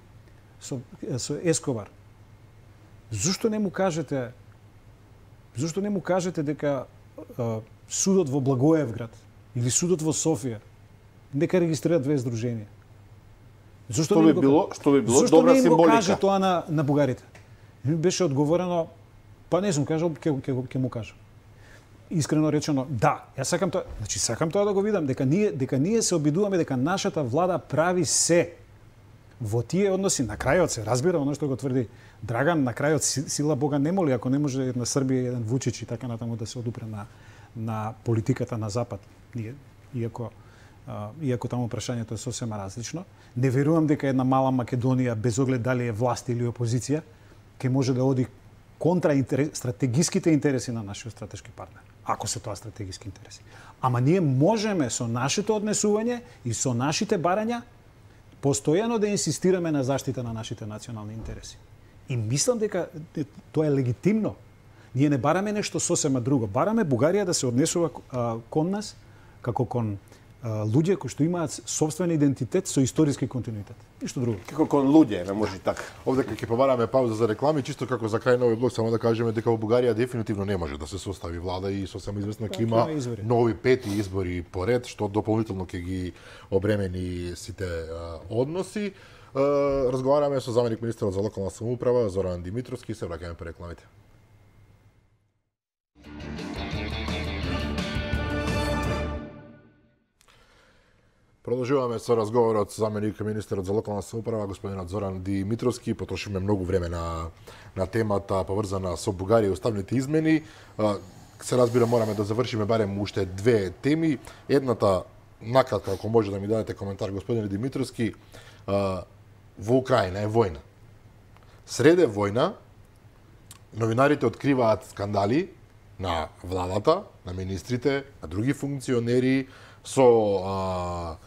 S2: со, со Ескобар. Зошто не му кажете, зошто не му кажете дека а, судот во Благоевград или судот во Софија нека регистрираат две здруженија? Зошто
S3: што
S2: не
S3: би било, што би било
S2: зошто
S3: добра
S2: не им го
S3: символика?
S2: каже тоа на на бугарите? Ми беше одговорено, па не сум кажал, ќе ќе ќе му кажам. Искрено речено, да, јас сакам тоа, значи сакам тоа да го видам, дека ние дека ние се обидуваме дека нашата влада прави се во тие односи. На крајот се разбира оно што го тврди Драган, на крајот сила Бога не моли, ако не може една Србија, еден Вучич и така натаму да се одупре на на политиката на запад. Ние, иако а, иако таму прашањето е сосема различно, не верувам дека една мала Македонија без оглед дали е власт или опозиција ќе може да оди контра интерес, стратегиските интереси на нашиот стратешки партнер, ако се тоа стратегиски интереси. Ама ние можеме со нашето однесување и со нашите барања постојано да инсистираме на заштита на нашите национални интереси. И мислам дека тоа е легитимно. Ние не бараме нешто сосема друго. Бараме Бугарија да се однесува а, кон нас како кон а, луѓе кои што имаат собствен идентитет со историски континуитет. Ништо друго.
S3: Како кон луѓе, не може така.
S1: Овде кога ќе побараме пауза за реклами, чисто како за крај на овој блок, само да кажеме дека во Бугарија дефинитивно не може да се состави влада и сосема известно ќе има нови пети избори поред, што дополнително ќе ги обремени сите а, односи. разговараме со заменик министерот за локална самоуправа Зоран Димитровски, се враќаме по рекламите. Продолжуваме со разговорот со заменик министерот за локална самоуправа господинот Зоран Димитровски. Потрошиме многу време на на темата поврзана со Бугарија и уставните измени. Се разбира, мораме да завршиме барем уште две теми. Едната, накратко, ако може да ми дадете коментар, господин Димитровски, во Украина е војна. Среде војна, новинарите откриваат скандали на владата, на министрите, на други функционери, со а,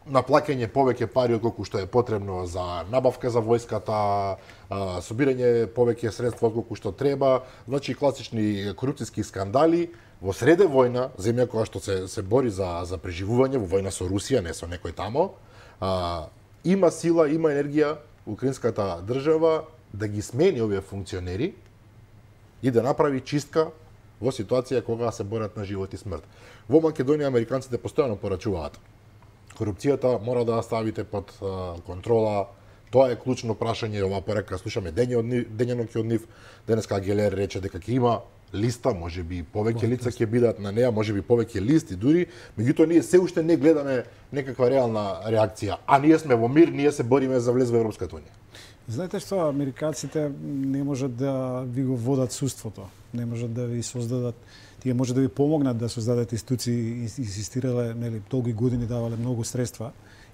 S1: наплаќање повеќе пари отколку што е потребно за набавка за војската, а, собирање повеќе средства отколку што треба, значи класични корупцијски скандали во среде војна, земја која што се се бори за за преживување во војна со Русија, не со некој тамо. А, има сила, има енергија украинската држава да ги смени овие функционери и да направи чистка во ситуација кога се борат на живот и смрт. Во Македонија американците постојано порачуваат: корупцијата мора да ја ставите под а, контрола. Тоа е клучно прашање. Ова порека слушаме дењаноќи од нив. Денеска Гелер рече дека ќе има листа, можеби повеќе лица ќе бидат на неа, можеби повеќе листи дури, меѓутоа ние се уште не гледаме некаква реална реакција. А ние сме во мир, ние се бориме за влез во Европската унија.
S2: Знаете што, американците не можат да ви го водат суството, не можат да ви создадат, тие може да ви помогнат да создадат институции, инсистирале, нели, долги години давале многу средства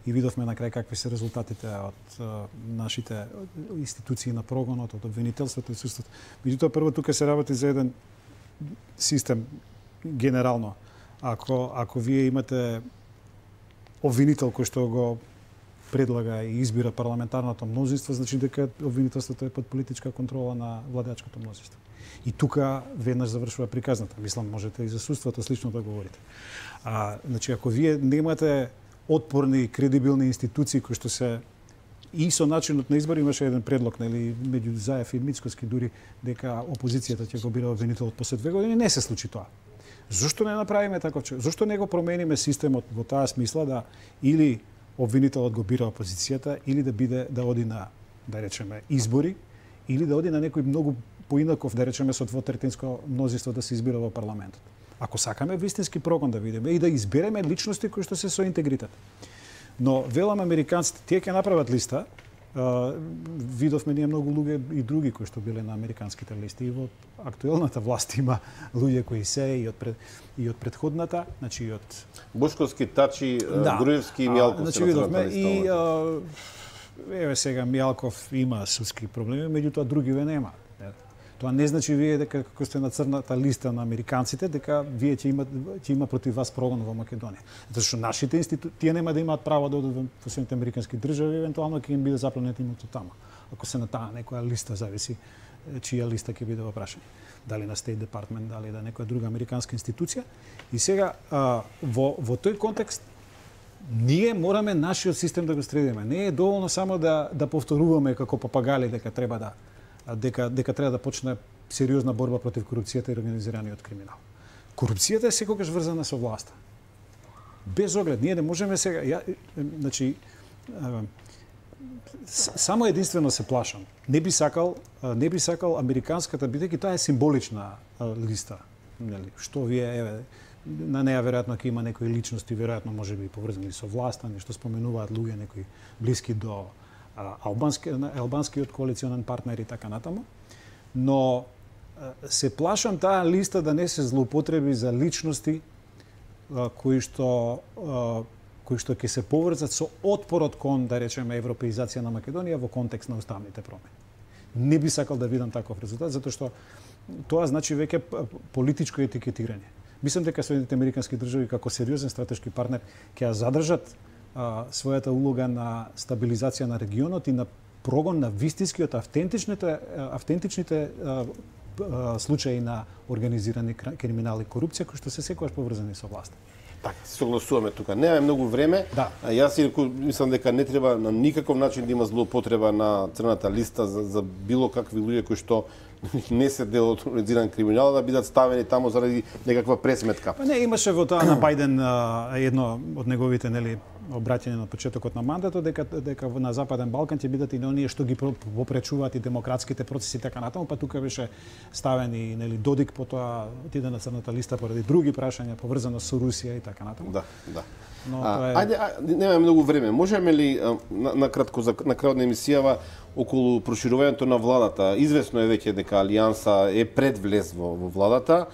S2: и видовме на крај какви се резултатите од а, нашите институции на прогонот, од обвинителството и судството. Меѓутоа, прво тука се работи за еден систем генерално. Ако ако вие имате обвинител кој што го предлага и избира парламентарното мнозинство, значи дека обвинителството е под политичка контрола на владеачкото мнозинство. И тука веднаш завршува приказната. Мислам, можете и за судството слично да говорите. А, значи, ако вие немате отпорни, кредибилни институции кои што се и со начинот на избор, имаше еден предлог, нели, меѓу Заев и Мицкоски дури, дека опозицијата ќе го бира обвинителот после две години, не се случи тоа. Зошто не направиме таков човек? Зошто не го промениме системот во таа смисла да или обвинителот го бира опозицијата, или да биде да оди на, да речеме, избори, или да оди на некој многу поинаков, да речеме, со двотретинско мнозинство да се избира во парламентот. Ако сакаме вистински прогон да видиме и да избереме личности кои што се со интегритет. Но велам американците, тие ќе направат листа. Uh, видовме ние многу луѓе и други кои што биле на американските листи. И во актуелната власт има луѓе кои се и од пред, и од претходната, значи и од
S3: Бушковски, Тачи,
S2: да.
S3: Груевски и Мијалков.
S2: Значи видовме и а, еве сега Мијалков има судски проблеми, меѓутоа другиве нема. Тоа не значи вие дека како сте на црната листа на американците, дека вие ќе има ќе има против вас прогон во Македонија. Затоа што нашите институции тие нема да имаат право да одат во Соединените американски држави, евентуално ќе им биде запленет имото таму. Ако се на таа некоја листа, зависи чија листа ќе биде во прашање. Дали на State Department, дали да некоја друга американска институција. И сега а, во во тој контекст ние мораме нашиот систем да го средиме. Не е доволно само да да повторуваме како папагали дека треба да дека дека треба да почне сериозна борба против корупцијата и организираниот криминал. Корупцијата е секогаш врзана со власта. Без оглед, ние не можеме сега, ја, значи, само единствено се плашам. Не би сакал, не би сакал американската, бидејќи тоа е символична листа, нели? Што вие еве на неа веројатно ќе има некои личности, веројатно можеби поврзани со власта, нешто споменуваат луѓе некои блиски до албански албанскиот коалиционен партнер и така натаму. Но се плашам таа листа да не се злоупотреби за личности кои што кои што ќе се поврзат со отпорот кон, да речеме, европеизација на Македонија во контекст на уставните промени. Не би сакал да видам таков резултат, затоа што тоа значи веќе политичко етикетирање. Мислам дека Соединените американски држави како сериозен стратешки партнер ќе ја задржат а, својата улога на стабилизација на регионот и на прогон на вистинскиот автентичните автентичните а, а, случаи на организирани криминал и корупција кои што се секогаш поврзани со власта.
S3: Така, се согласуваме тука. Немаме многу време.
S2: Да.
S3: Јас си мислам дека не треба на никаков начин да има злоупотреба на црната листа за, за било какви луѓе кои што не се дел од организиран криминал да бидат ставени таму заради некаква пресметка.
S2: Па не, имаше во тоа на Бајден едно од неговите, нели, обраќање на почетокот на мандатот дека дека на Западен Балкан ќе бидат и оние што ги попречуваат и демократските процеси и така натаму, па тука беше ставен и нели Додик, потоа отиде на црната листа поради други прашања поврзано со Русија и така натаму.
S3: Да, да.
S2: Но
S3: а,
S2: тоа е...
S3: Ајде, а, немаме многу време. Можеме ли на, на кратко за на крајот на емисијава околу проширувањето на владата? Извесно е веќе дека Алијанса е пред влез во, во владата.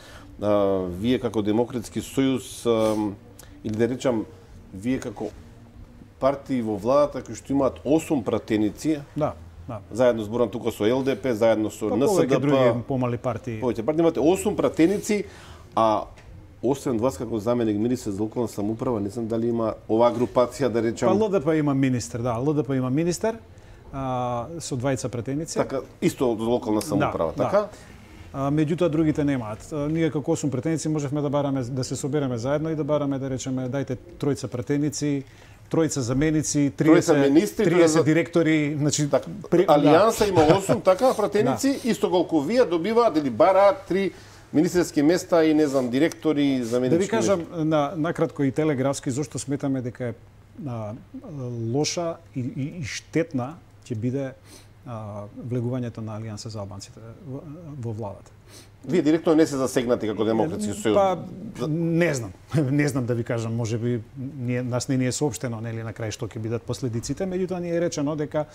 S3: А, вие како Демократски сојуз а, или да речам вие како партии во владата кои што имаат осум пратеници.
S2: Да, да.
S3: Заедно зборам тука со Л Д П, заедно со
S2: па,
S3: Н С Д П.
S2: Други помали партии.
S3: Повеќе партии имате осум пратеници, а освен вас како заменик министер за локална самоуправа, не знам дали има оваа групација да речам.
S2: Па Л Д П има министер, да, Л Д П има министер а, со двајца пратеници.
S3: Така, исто за локална самоуправа,
S2: да,
S3: така?
S2: Да. А, меѓутоа другите немаат. А, ние како осум пратеници можевме да бараме да се собереме заедно и да бараме да речеме дајте тројца пратеници, тројца заменици, триесет
S3: министри,
S2: триесет директори, значи
S3: така,
S2: при...
S3: Алијанса
S2: да.
S3: има осум така пратеници, да. Исто колку вие добиваат или бараат три министерски места и не знам директори, заменички.
S2: Да ви кажам на накратко и телеграфски зошто сметаме дека е а, лоша и, и, и штетна ќе биде а, влегувањето на Алијанса за албанците во, во владата.
S3: Вие директно не се засегнати како Демократски сојуз.
S2: Па не знам, не знам да ви кажам, можеби ние нас не ни е соопштено нели на крај што ќе бидат последиците, меѓутоа ни е речено дека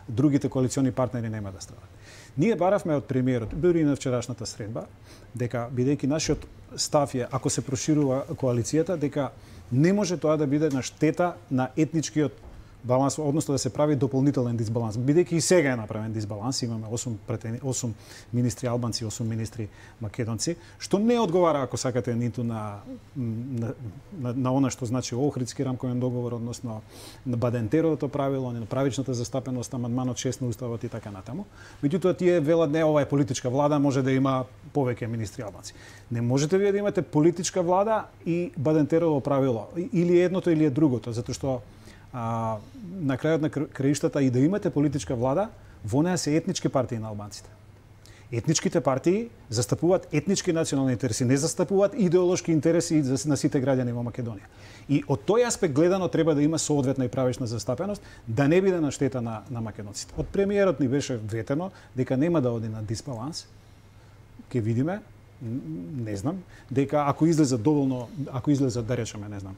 S2: другите коалициони партнери нема да страдат. Ние баравме од премиерот, дури и на вчерашната средба, дека бидејќи нашиот став е ако се проширува коалицијата, дека не може тоа да биде на штета на етничкиот баланс, односно да се прави дополнителен дисбаланс. Бидејќи и сега е направен дисбаланс, имаме осум, претени, осум министри албанци, осум министри македонци, што не одговара, ако сакате, ниту на, на, на, на она што значи Охридски рамковен договор, односно на Бадентеровото правило, на правичната застапеност, амандманот шест на Уставот и така натаму. Меѓутоа тие велат не, ова е политичка влада, може да има повеќе министри албанци. Не можете вие да имате политичка влада и Бадентерово правило, или едното или е другото, затоа што А, на крајот на краиштата и да имате политичка влада, во неа се етнички партии на албанците. Етничките партии застапуваат етнички национални интереси, не застапуваат идеолошки интереси на сите граѓани во Македонија. И од тој аспект гледано треба да има соодветна и правична застапеност, да не биде на штета на, на македонците. Од премиерот ни беше ветено дека нема да оди на дисбаланс. Ке видиме, не знам, дека ако излезат доволно, ако излезат да речеме, не знам,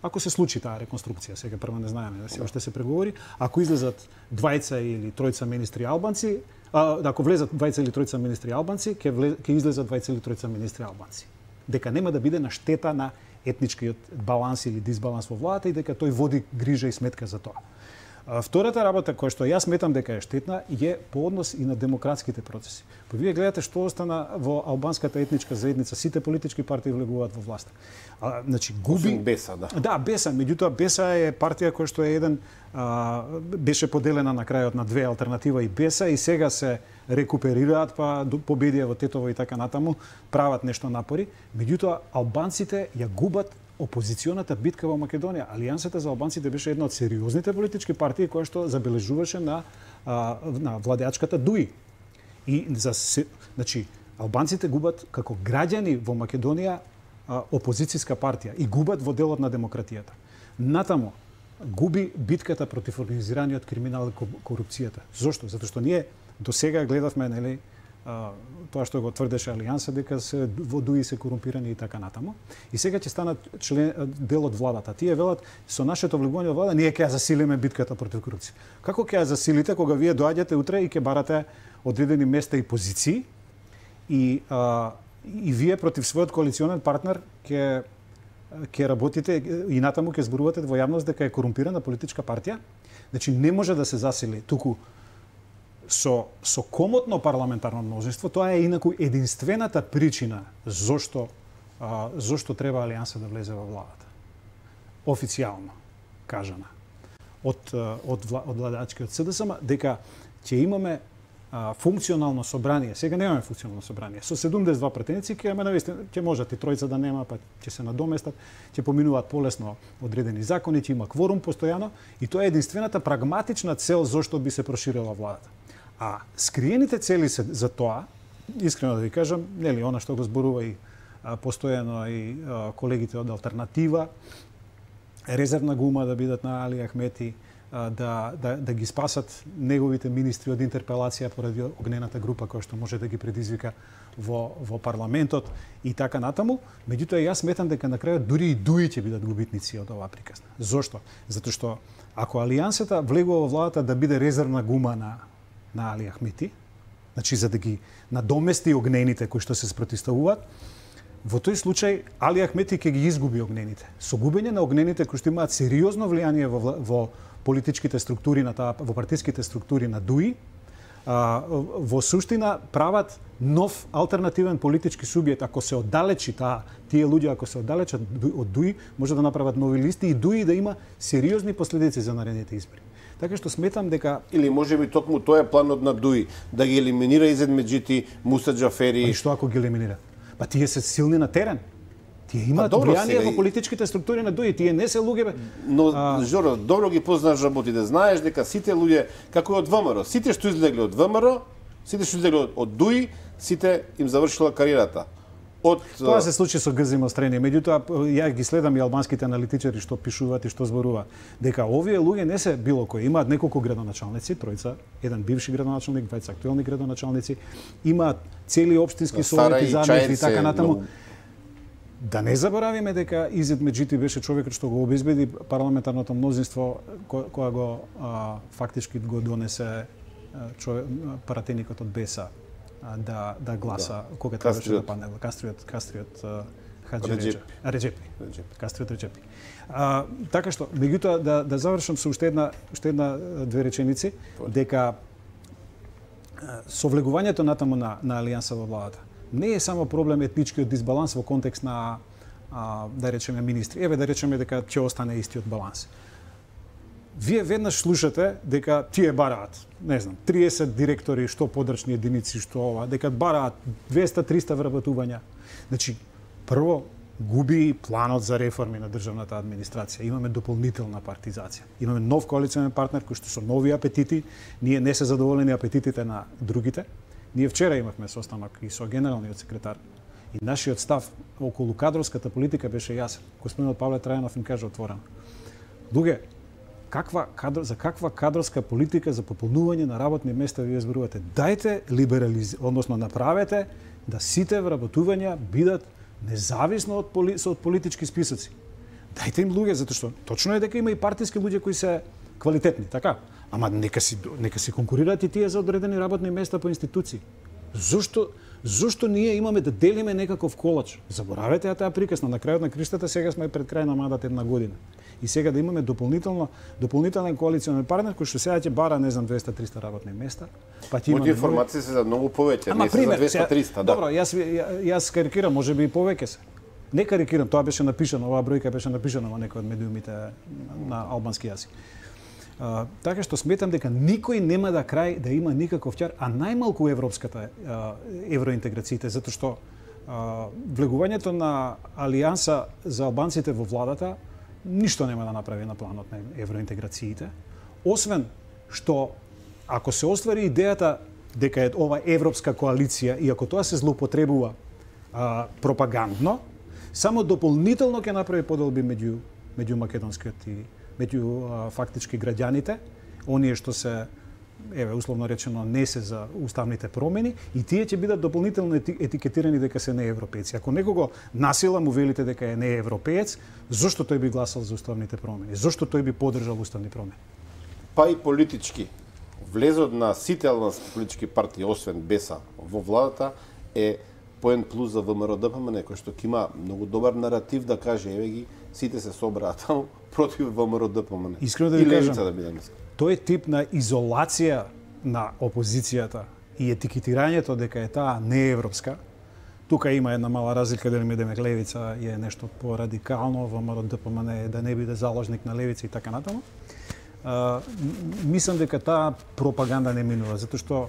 S2: ако се случи таа реконструкција, сега прво не знаеме, се уште се преговори, ако излезат двајца или тројца министри албанци, а, ако влезат двајца или тројца министри албанци, ќе влез, ќе излезат двајца или тројца министри албанци. Дека нема да биде на штета на етничкиот баланс или дисбаланс во владата и дека тој води грижа и сметка за тоа. А, втората работа која што јас сметам дека е штетна е по однос и на демократските процеси. Па вие гледате што остана во албанската етничка заедница, сите политички партии влегуваат во власта. А, значи губи
S3: Беса, да.
S2: Да, Беса, меѓутоа Беса е партија која што е еден а, беше поделена на крајот на две алтернатива и Беса и сега се рекуперираат па победија во Тетово и така натаму, прават нешто напори, меѓутоа албанците ја губат опозиционата битка во Македонија. Алијансата за албанците беше една од сериозните политички партии која што забележуваше на а, на владеачката ДУИ. И за се, значи албанците губат како граѓани во Македонија опозицијска партија и губат во делот на демократијата. Натаму губи битката против организираниот криминал и корупцијата. Зошто? Затоа што ние до сега гледавме, нели, тоа што го тврдеше Алијанса дека се во ДУИ се корумпирани и така натаму. И сега ќе станат член дел од владата. Тие велат со нашето влегување во влада ние ќе ја засилиме битката против корупција. Како ќе ја засилите кога вие доаѓате утре и ќе барате одредени места и позиции и а, и вие против својот коалиционен партнер ќе ќе работите и натаму ќе зборувате во јавност дека е корумпирана политичка партија? Значи не може да се засили туку со со комотно парламентарно мнозинство. Тоа е инаку единствената причина зошто а, зошто треба Алијанса да влезе во владата. Официјално кажана од од од владачкиот С Д С М дека ќе имаме а, функционално собрание. Сега немаме функционално собрание. Со седумдесет и два претеници ќе имаме навистина, ќе можат и тројца да нема, па ќе се надоместат, ќе поминуваат полесно одредени закони, ќе има кворум постојано и тоа е единствената прагматична цел зошто би се проширила владата. А скриените цели се за тоа, искрено да ви кажам, нели она што го зборува и а, постојано и а, колегите од Алтернатива, резервна гума да бидат на Али Ахмети, да, да, да ги спасат неговите министри од интерпелација поради огнената група која што може да ги предизвика во, во парламентот и така натаму. Меѓутоа, јас сметам дека на крајот дури и Дуи ќе бидат губитници од оваа приказна. Зошто? Затоа што ако Алијансата влегува во владата да биде резервна гума на, на Али Ахмети, значи за да ги надомести огнените кои што се спротивставуваат, во тој случај Али Ахмети ќе ги изгуби огнените. Со губење на огнените кои што имаат сериозно влијание во, во политичките структури на таа, во партиските структури на Дуи, а, во суштина прават нов алтернативен политички субјект. Ако се оддалечи таа, тие луѓе ако се оддалечат од Дуи, може да направат нови листи и Дуи да има сериозни последици за наредните избори. Така што сметам дека
S3: или можеби токму тоа е планот на Дуи, да ги елиминира Изетмеџити, Муса Џафери.
S2: И што ако ги елиминира? Па тие се силни на терен. Тие имаат влијание во политичките структури на Дуи, тие не се луѓе.
S3: Но а... Жоро, добро ги познаш работите, знаеш дека сите луѓе како од ВМРО, сите што излегли од ВМРО, сите што излегли од Дуи, сите им завршила кариерата. Од
S2: Тоа се случи со Грзи Мострени, меѓутоа ја ги следам и албанските аналитичари што пишуваат и што зборуваат дека овие луѓе не се било кои, имаат неколку градоначалници, тројца, еден бивши градоначалник, двајца актуелни градоначалници, имаат цели општински совети, замети и така натаму. Но... Да не заборавиме дека Изетмеџити беше човекот што го обезбеди парламентарното мнозинство ко, која го а, фактички го донесе човек, пратеникот од Беса да да гласа да. Кога требаше да падне Кастриот Кастриот Хаџи Реџепи. Кастриот Реџепи. А, така што меѓутоа да да завршам со уште една уште една две реченици дека со влегувањето натаму на на Алијанса во владата не е само проблем етничкиот дисбаланс во контекст на а, да речеме министри. Еве да речеме дека ќе остане истиот баланс. Вие веднаш слушате дека тие бараат, не знам, триесет директори, што подрачни единици, што ова, дека бараат двеста до триста вработувања. Значи, прво губи планот за реформи на државната администрација. Имаме дополнителна партизација. Имаме нов коалиционен партнер кој што со нови апетити, ние не се задоволени апетитите на другите. Ние вчера имавме состанок и со генералниот секретар и нашиот став околу кадровската политика беше јасен. Господинот Павле Трајанов им каже отворено: луѓе, каква кадр, за каква кадровска политика за пополнување на работни места вие зборувате? Дајте либерализ, односно направете да сите вработувања бидат независно од, поли, од политички списоци. Дајте им луѓе, затоа што точно е дека има и партиски луѓе кои се квалитетни, така? Ама нека си нека си конкурираат и тие за одредени работни места по институции. Зошто зошто ние имаме да делиме некаков колач? Заборавете ја таа приказна, на крајот на криштата сега сме пред крај на мандат една година. И сега да имаме дополнително дополнителен коалиционен партнер кој што сега ќе бара не знам двеста до триста работни места, па ќе имаме
S3: информации се за многу повеќе, не се за двеста до триста, да.
S2: Добро, јас јас карикирам, можеби и повеќе се. Не карикирам, тоа беше напишано, оваа бројка беше напишана во некој од медиумите на албански јазик. Uh, така што сметам дека никој нема да крај да има никаков ќар, а најмалку европската uh, евроинтеграциите, затоа што uh, влегувањето на Алијанса за албанците во владата ништо нема да направи на планот на евроинтеграциите, освен што ако се оствари идејата дека е ова европска коалиција и ако тоа се злоупотребува uh, пропагандно, само дополнително ќе направи поделби меѓу меѓу македонскиот и меѓу фактички граѓаните, оние што се, еве, условно речено, не се за уставните промени, и тие ќе бидат дополнително етикетирани дека се неевропејци. Ако некого насила му велите дека е неевропеец, зошто тој би гласал за уставните промени? Зошто тој би поддржал уставни промени?
S3: Па и политички. Влезот на сите албански политички партии, освен Беса, во владата е поен плюс за ВМРО-ДПМН, кој што ќе има многу добар наратив да каже, еве ги, сите се собраат таму против ВМРО-ДПМН.
S2: Искрено да ви кажам,
S3: да бидам.
S2: тој тип на изолација на опозицијата и етикетирањето дека е таа неевропска, тука има една мала разлика дали медеме левица е нешто порадикално, ВМРО-ДПМН е да не биде заложник на левица и така натаму. Uh, мислам дека таа пропаганда не минува, затоа што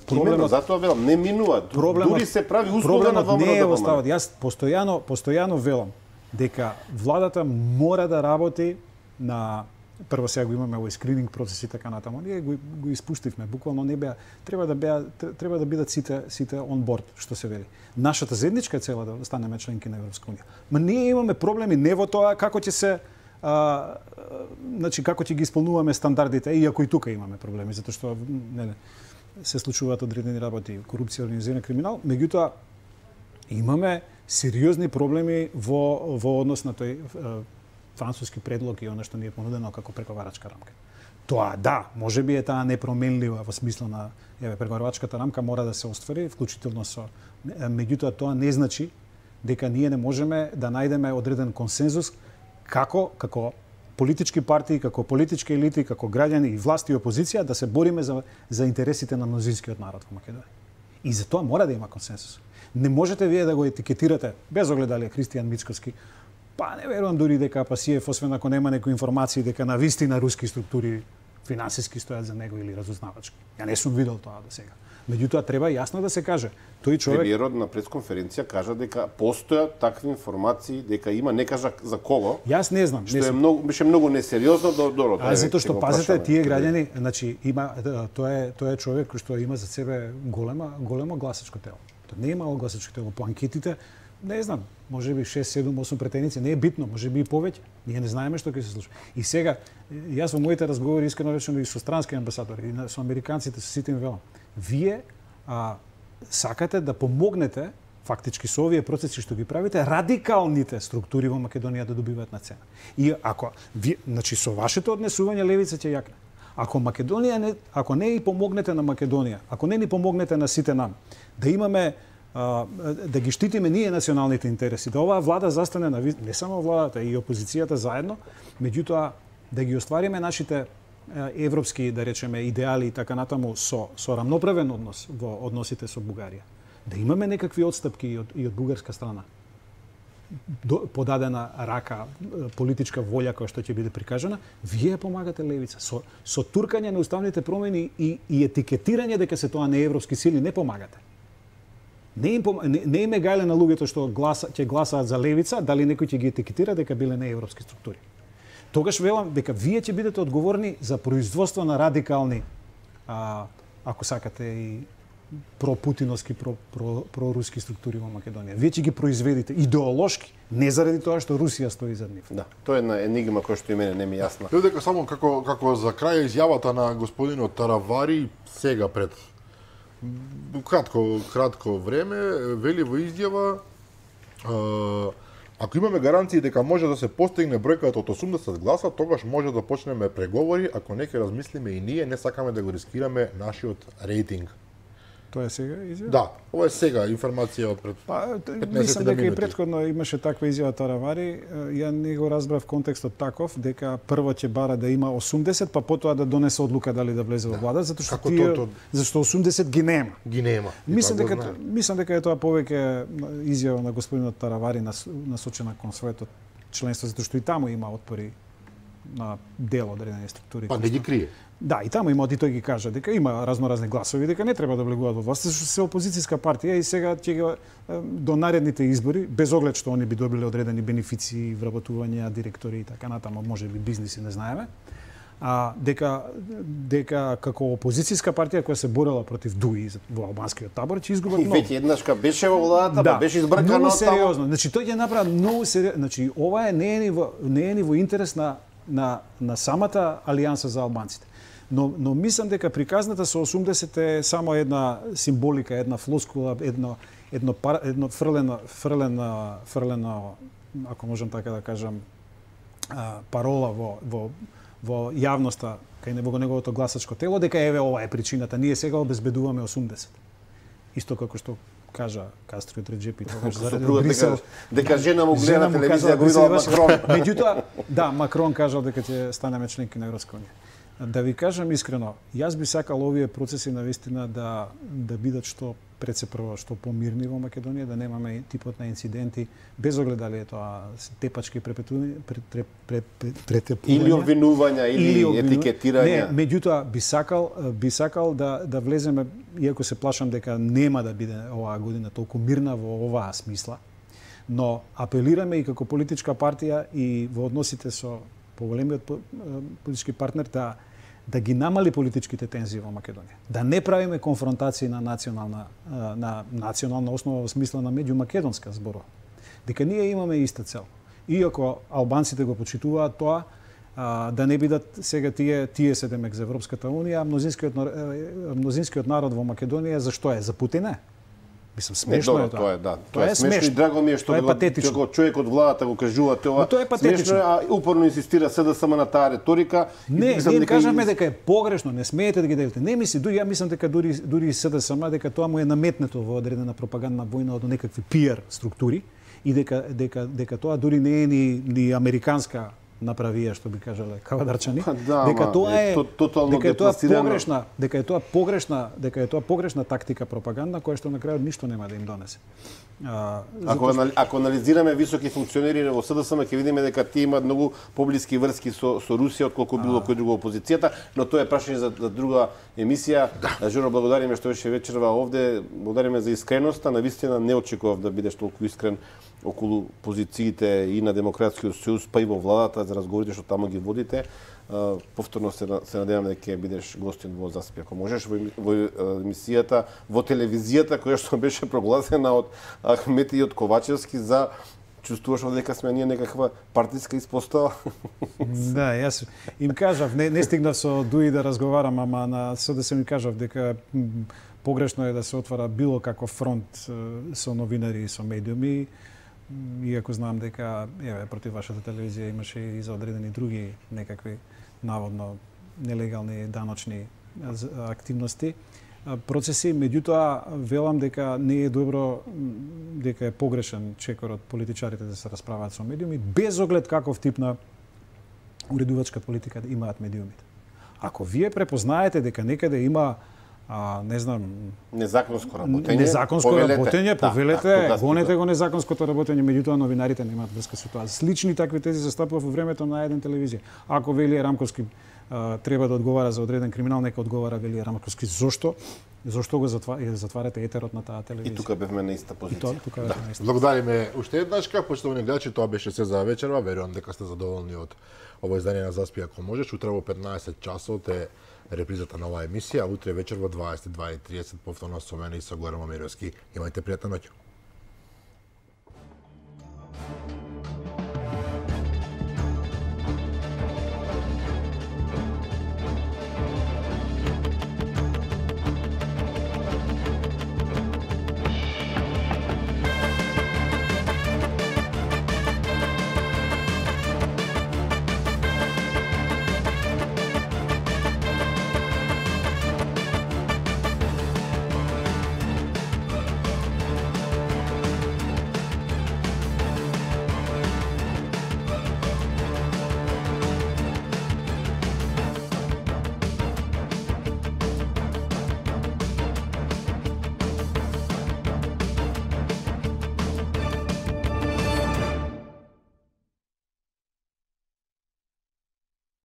S3: проблемот затоа велам не минува. Дури се прави услуга на ВМРО-ДПМН.
S2: Не е остават. Јас постојано постојано велам дека владата мора да работи на прво сега го имаме овој скрининг процес и така натаму. Ние го, го испуштивме, буквално не беа, треба да беа треба да бидат сите сите он борд, што се вели. Нашата заедничка цела да станеме членки на Европска унија. Ма ние имаме проблеми не во тоа како ќе се а, значи како ќе ги исполнуваме стандардите, иако и тука имаме проблеми, затоа што не, се случуваат одредени работи, корупција, организиран криминал, меѓутоа имаме сериозни проблеми во во однос на тој а, француски предлог и она што ни е понудено како преговарачка рамка. Тоа да, можеби е таа непроменлива во смисла на еве преговарачката рамка мора да се оствари, вклучително со меѓутоа тоа не значи дека ние не можеме да најдеме одреден консензус како како политички партии, како политички елити, како граѓани и власт и опозиција да се бориме за за интересите на мнозинскиот народ во Македонија. И за тоа мора да има консензус. Не можете вие да го етикетирате без оглед дали е Христијан Мицкоски. Па не верувам дури дека Пасиев, освен ако нема некои информации дека на вистина руски структури финансиски стојат за него или разузнавачки. Ја не сум видел тоа до сега. Меѓутоа треба јасно да се каже. Тој човек
S3: Премиерот на пресконференција кажа дека постојат такви информации, дека има, не кажа за кого.
S2: Јас не знам,
S3: што
S2: не
S3: е многу беше многу несериозно до до
S2: А затоа што пазете тие граѓани, значи има тоа е тоа е човек кој што има за себе голема големо гласачко тело. Тоа не има гласачко тело по анкетите. Не знам, може би шест, седум, осум претеници, не е битно, може би и повеќе. Ние не знаеме што ќе се случи. И сега, јас во моите разговори искрено речено и со странски амбасадори, и со американците, со сите им велам, вие а, сакате да помогнете фактички со овие процеси што ги правите, радикалните структури во Македонија да добиваат на цена. И ако вие, значи со вашето однесување левица ќе јакне. Ако Македонија не, ако не и помогнете на Македонија, ако не ни помогнете на сите нам, да имаме да ги штитиме ние националните интереси, да оваа влада застане на не само владата и опозицијата заедно, меѓутоа да ги оствариме нашите европски, да речеме, идеали и така натаму со со рамноправен однос во односите со Бугарија. Да имаме некакви отстапки и од, и од бугарска страна. До, подадена рака, политичка волја која што ќе биде прикажана, вие помагате левица со со туркање на уставните промени и и етикетирање дека се тоа не европски сили не помагате. Не им не, не им е гајле на луѓето што гласа ќе гласаат за левица, дали некој ќе ги етикетира дека биле неевропски структури. Тогаш велам дека вие ќе бидете одговорни за производство на радикални, а, ако сакате и пропутиновски, про, про, проруски структури во Македонија. Вие ќе ги произведите идеолошки, не заради тоа што Русија стои зад нив.
S3: Да, тоа е една енигма која што и мене не ми јасна.
S1: Ја дека само како како за крај изјавата на господинот Таравари сега пред кратко кратко време вели во изјава а, ако имаме гаранции дека може да се постигне бројката од осумдесет гласа, тогаш може да почнеме преговори, ако не ќе размислиме и ние, не сакаме да го рискираме нашиот рейтинг.
S2: Тоа е сега изјава?
S1: Да, ова е сега информација од пред
S2: па,
S1: петнаесет
S2: мислам дека
S1: минути.
S2: и претходно имаше таква изјава Таравари. Ја не го разбрав контекстот таков, дека прво ќе бара да има осумдесет, па потоа да донесе одлука дали да влезе во влада, затоа што
S1: Како
S2: тие,
S1: то- то-
S2: зашто осумдесет ги нема.
S1: Ги нема. И
S2: Мислам
S1: тоа го
S2: дека
S1: знаеме.
S2: мислам дека е тоа повеќе изјава на господинот Таравари нас- насочена кон своето членство, затоа што и таму има отпори на дел одредени структури.
S1: Па не ги крие.
S2: Да, и таму има, и тој ги кажа дека има разноразни гласови, дека не треба да влегуваат во власт, зашто се опозицијска партија и сега ќе го е, до наредните избори, без оглед што они би добиле одредени бенефиции, вработувања, директори и така натаму, може би бизниси, не знаеме. А дека дека како опозицијска партија која се борела против ДУИ во албанскиот табор ќе изгубат
S3: И
S2: многу.
S3: веќе еднашка беше во владата, па беше избркано
S2: многу
S3: од таму.
S2: сериозно. Значи тој ќе направи многу сериозно. Значи ова е не е ни во не е ни во интерес на на на самата алијанса за албанците. Но но мислам дека приказната со осумдесет е само една символика, една флоскула, едно едно пар, едно фрлено фрлено фрлено ако можам така да кажам а, парола во во во јавноста кај него во неговото гласачко тело дека еве ова е причината, ние сега обезбедуваме осумдесет. Исто како што кажа Кастрио Реджепи тогаш заради
S3: Сопругата
S2: Брисел.
S3: дека- дека жена му гледа
S2: Жена
S3: на
S2: му
S3: телевизија,
S2: кажала
S3: го видела
S2: дека се
S3: Макрон.
S2: Меѓутоа, да, Макрон кажал дека ќе станеме членки на Европска унија. Да ви кажам искрено, јас би сакал овие процеси навистина да да бидат што пред се прво што помирни во Македонија, да немаме типот на инциденти, без оглед дали е тоа тепачки препетување, претепувања
S3: Или обвинувања, или
S2: обвинувања.
S3: етикетирања.
S2: Не, меѓутоа би сакал би сакал да да влеземе, иако се плашам дека нема да биде оваа година толку мирна во оваа смисла, но апелираме и како политичка партија и во односите со поголемиот по- политички партнер да да ги намали политичките тензии во Македонија. Да не правиме конфронтации на национална на национална основа во смисла на меѓумакедонска зборува. Дека ние имаме иста цел. иако албанците го почитуваат тоа, а, да не бидат сега тие тие се демек за Европската унија, мнозинскиот мнозинскиот народ во Македонија зашто е? За Путин е. Мислам, смешно
S3: не,
S2: е тоа.
S3: Тоа е, да. Тоа,
S2: Тоа
S3: е смешно и драго ми е што го, го човек од владата го кажува тоа.
S2: Но тоа е патетично.
S3: Смешно, а упорно инсистира СДСМ на таа реторика.
S2: Не, ние кажаме дека е погрешно, не смеете да ги делите. Не мисли, дури ја мислам дека дури дури СДСМ дека тоа му е наметнето во одредена пропагандна војна од некакви пиар структури и дека дека дека тоа дури не е ни ни американска направија, што би кажале кавадарчани,
S3: да,
S2: дека тоа е
S3: тотално
S2: дека е тоа погрешна, дека е тоа погрешна, дека е тоа погрешна тактика пропагандна која што на крајот ништо нема да им донесе. А,
S3: ако што... ако анализираме високи функционери во СДСМ ќе видиме дека тие имаат многу поблиски врски со со Русија отколку било кој друго опозицијата, но тоа е прашање за, за друга емисија. Да. Жоро, благодариме што беше вечерва овде, благодариме за искреноста, навистина не очекував да бидеш толку искрен околу позициите и на Демократскиот сојуз, па и во владата, за разговорите што таму ги водите. Uh, повторно се, се надевам дека ќе бидеш гостин во Заспи, ако можеш, во, во емисијата, во телевизијата, која што беше прогласена од Ахмети и од Ковачевски за чувствуваш дека сме ние некаква партиска испостава?
S2: Да, јас им кажав, не, не стигнав со Дуи да разговарам, ама на СДСМ им кажав дека погрешно е да се отвара било каков фронт со новинари и со медиуми, иако знам дека еве против вашата телевизија имаше и за одредени други некакви наводно нелегални даночни активности, процеси, меѓутоа велам дека не е добро, дека е погрешен чекор од политичарите да се расправаат со медиуми, без оглед каков тип на уредувачка политика имаат медиумите. Ако вие препознаете дека некаде има А, не знам,
S3: незаконско работење,
S2: незаконско
S3: повелете.
S2: работење, повелете,
S3: да, да,
S2: гонете го незаконското работење, меѓутоа новинарите немаат врска со тоа. Слични такви тези се стапува во времето на еден телевизија. Ако Велија Рамковски а, треба да одговара за одреден криминал, нека одговара Велија Рамковски. Зошто? Зошто го затварате, затварате етерот на таа телевизија?
S3: И тука бевме на иста позиција.
S2: И тука бевме на иста.
S1: Благодариме уште еднашка, почитувани гледачи, тоа беше се за вечерва. Верувам дека сте задоволни од ово издание на Заспи ако можеш. Утре во петнаесет часот е репризата на оваа емисија, утре вечер во дваесет и два и тридесет повторно со мене и со Горан Момировски. Имајте пријатна ноќ.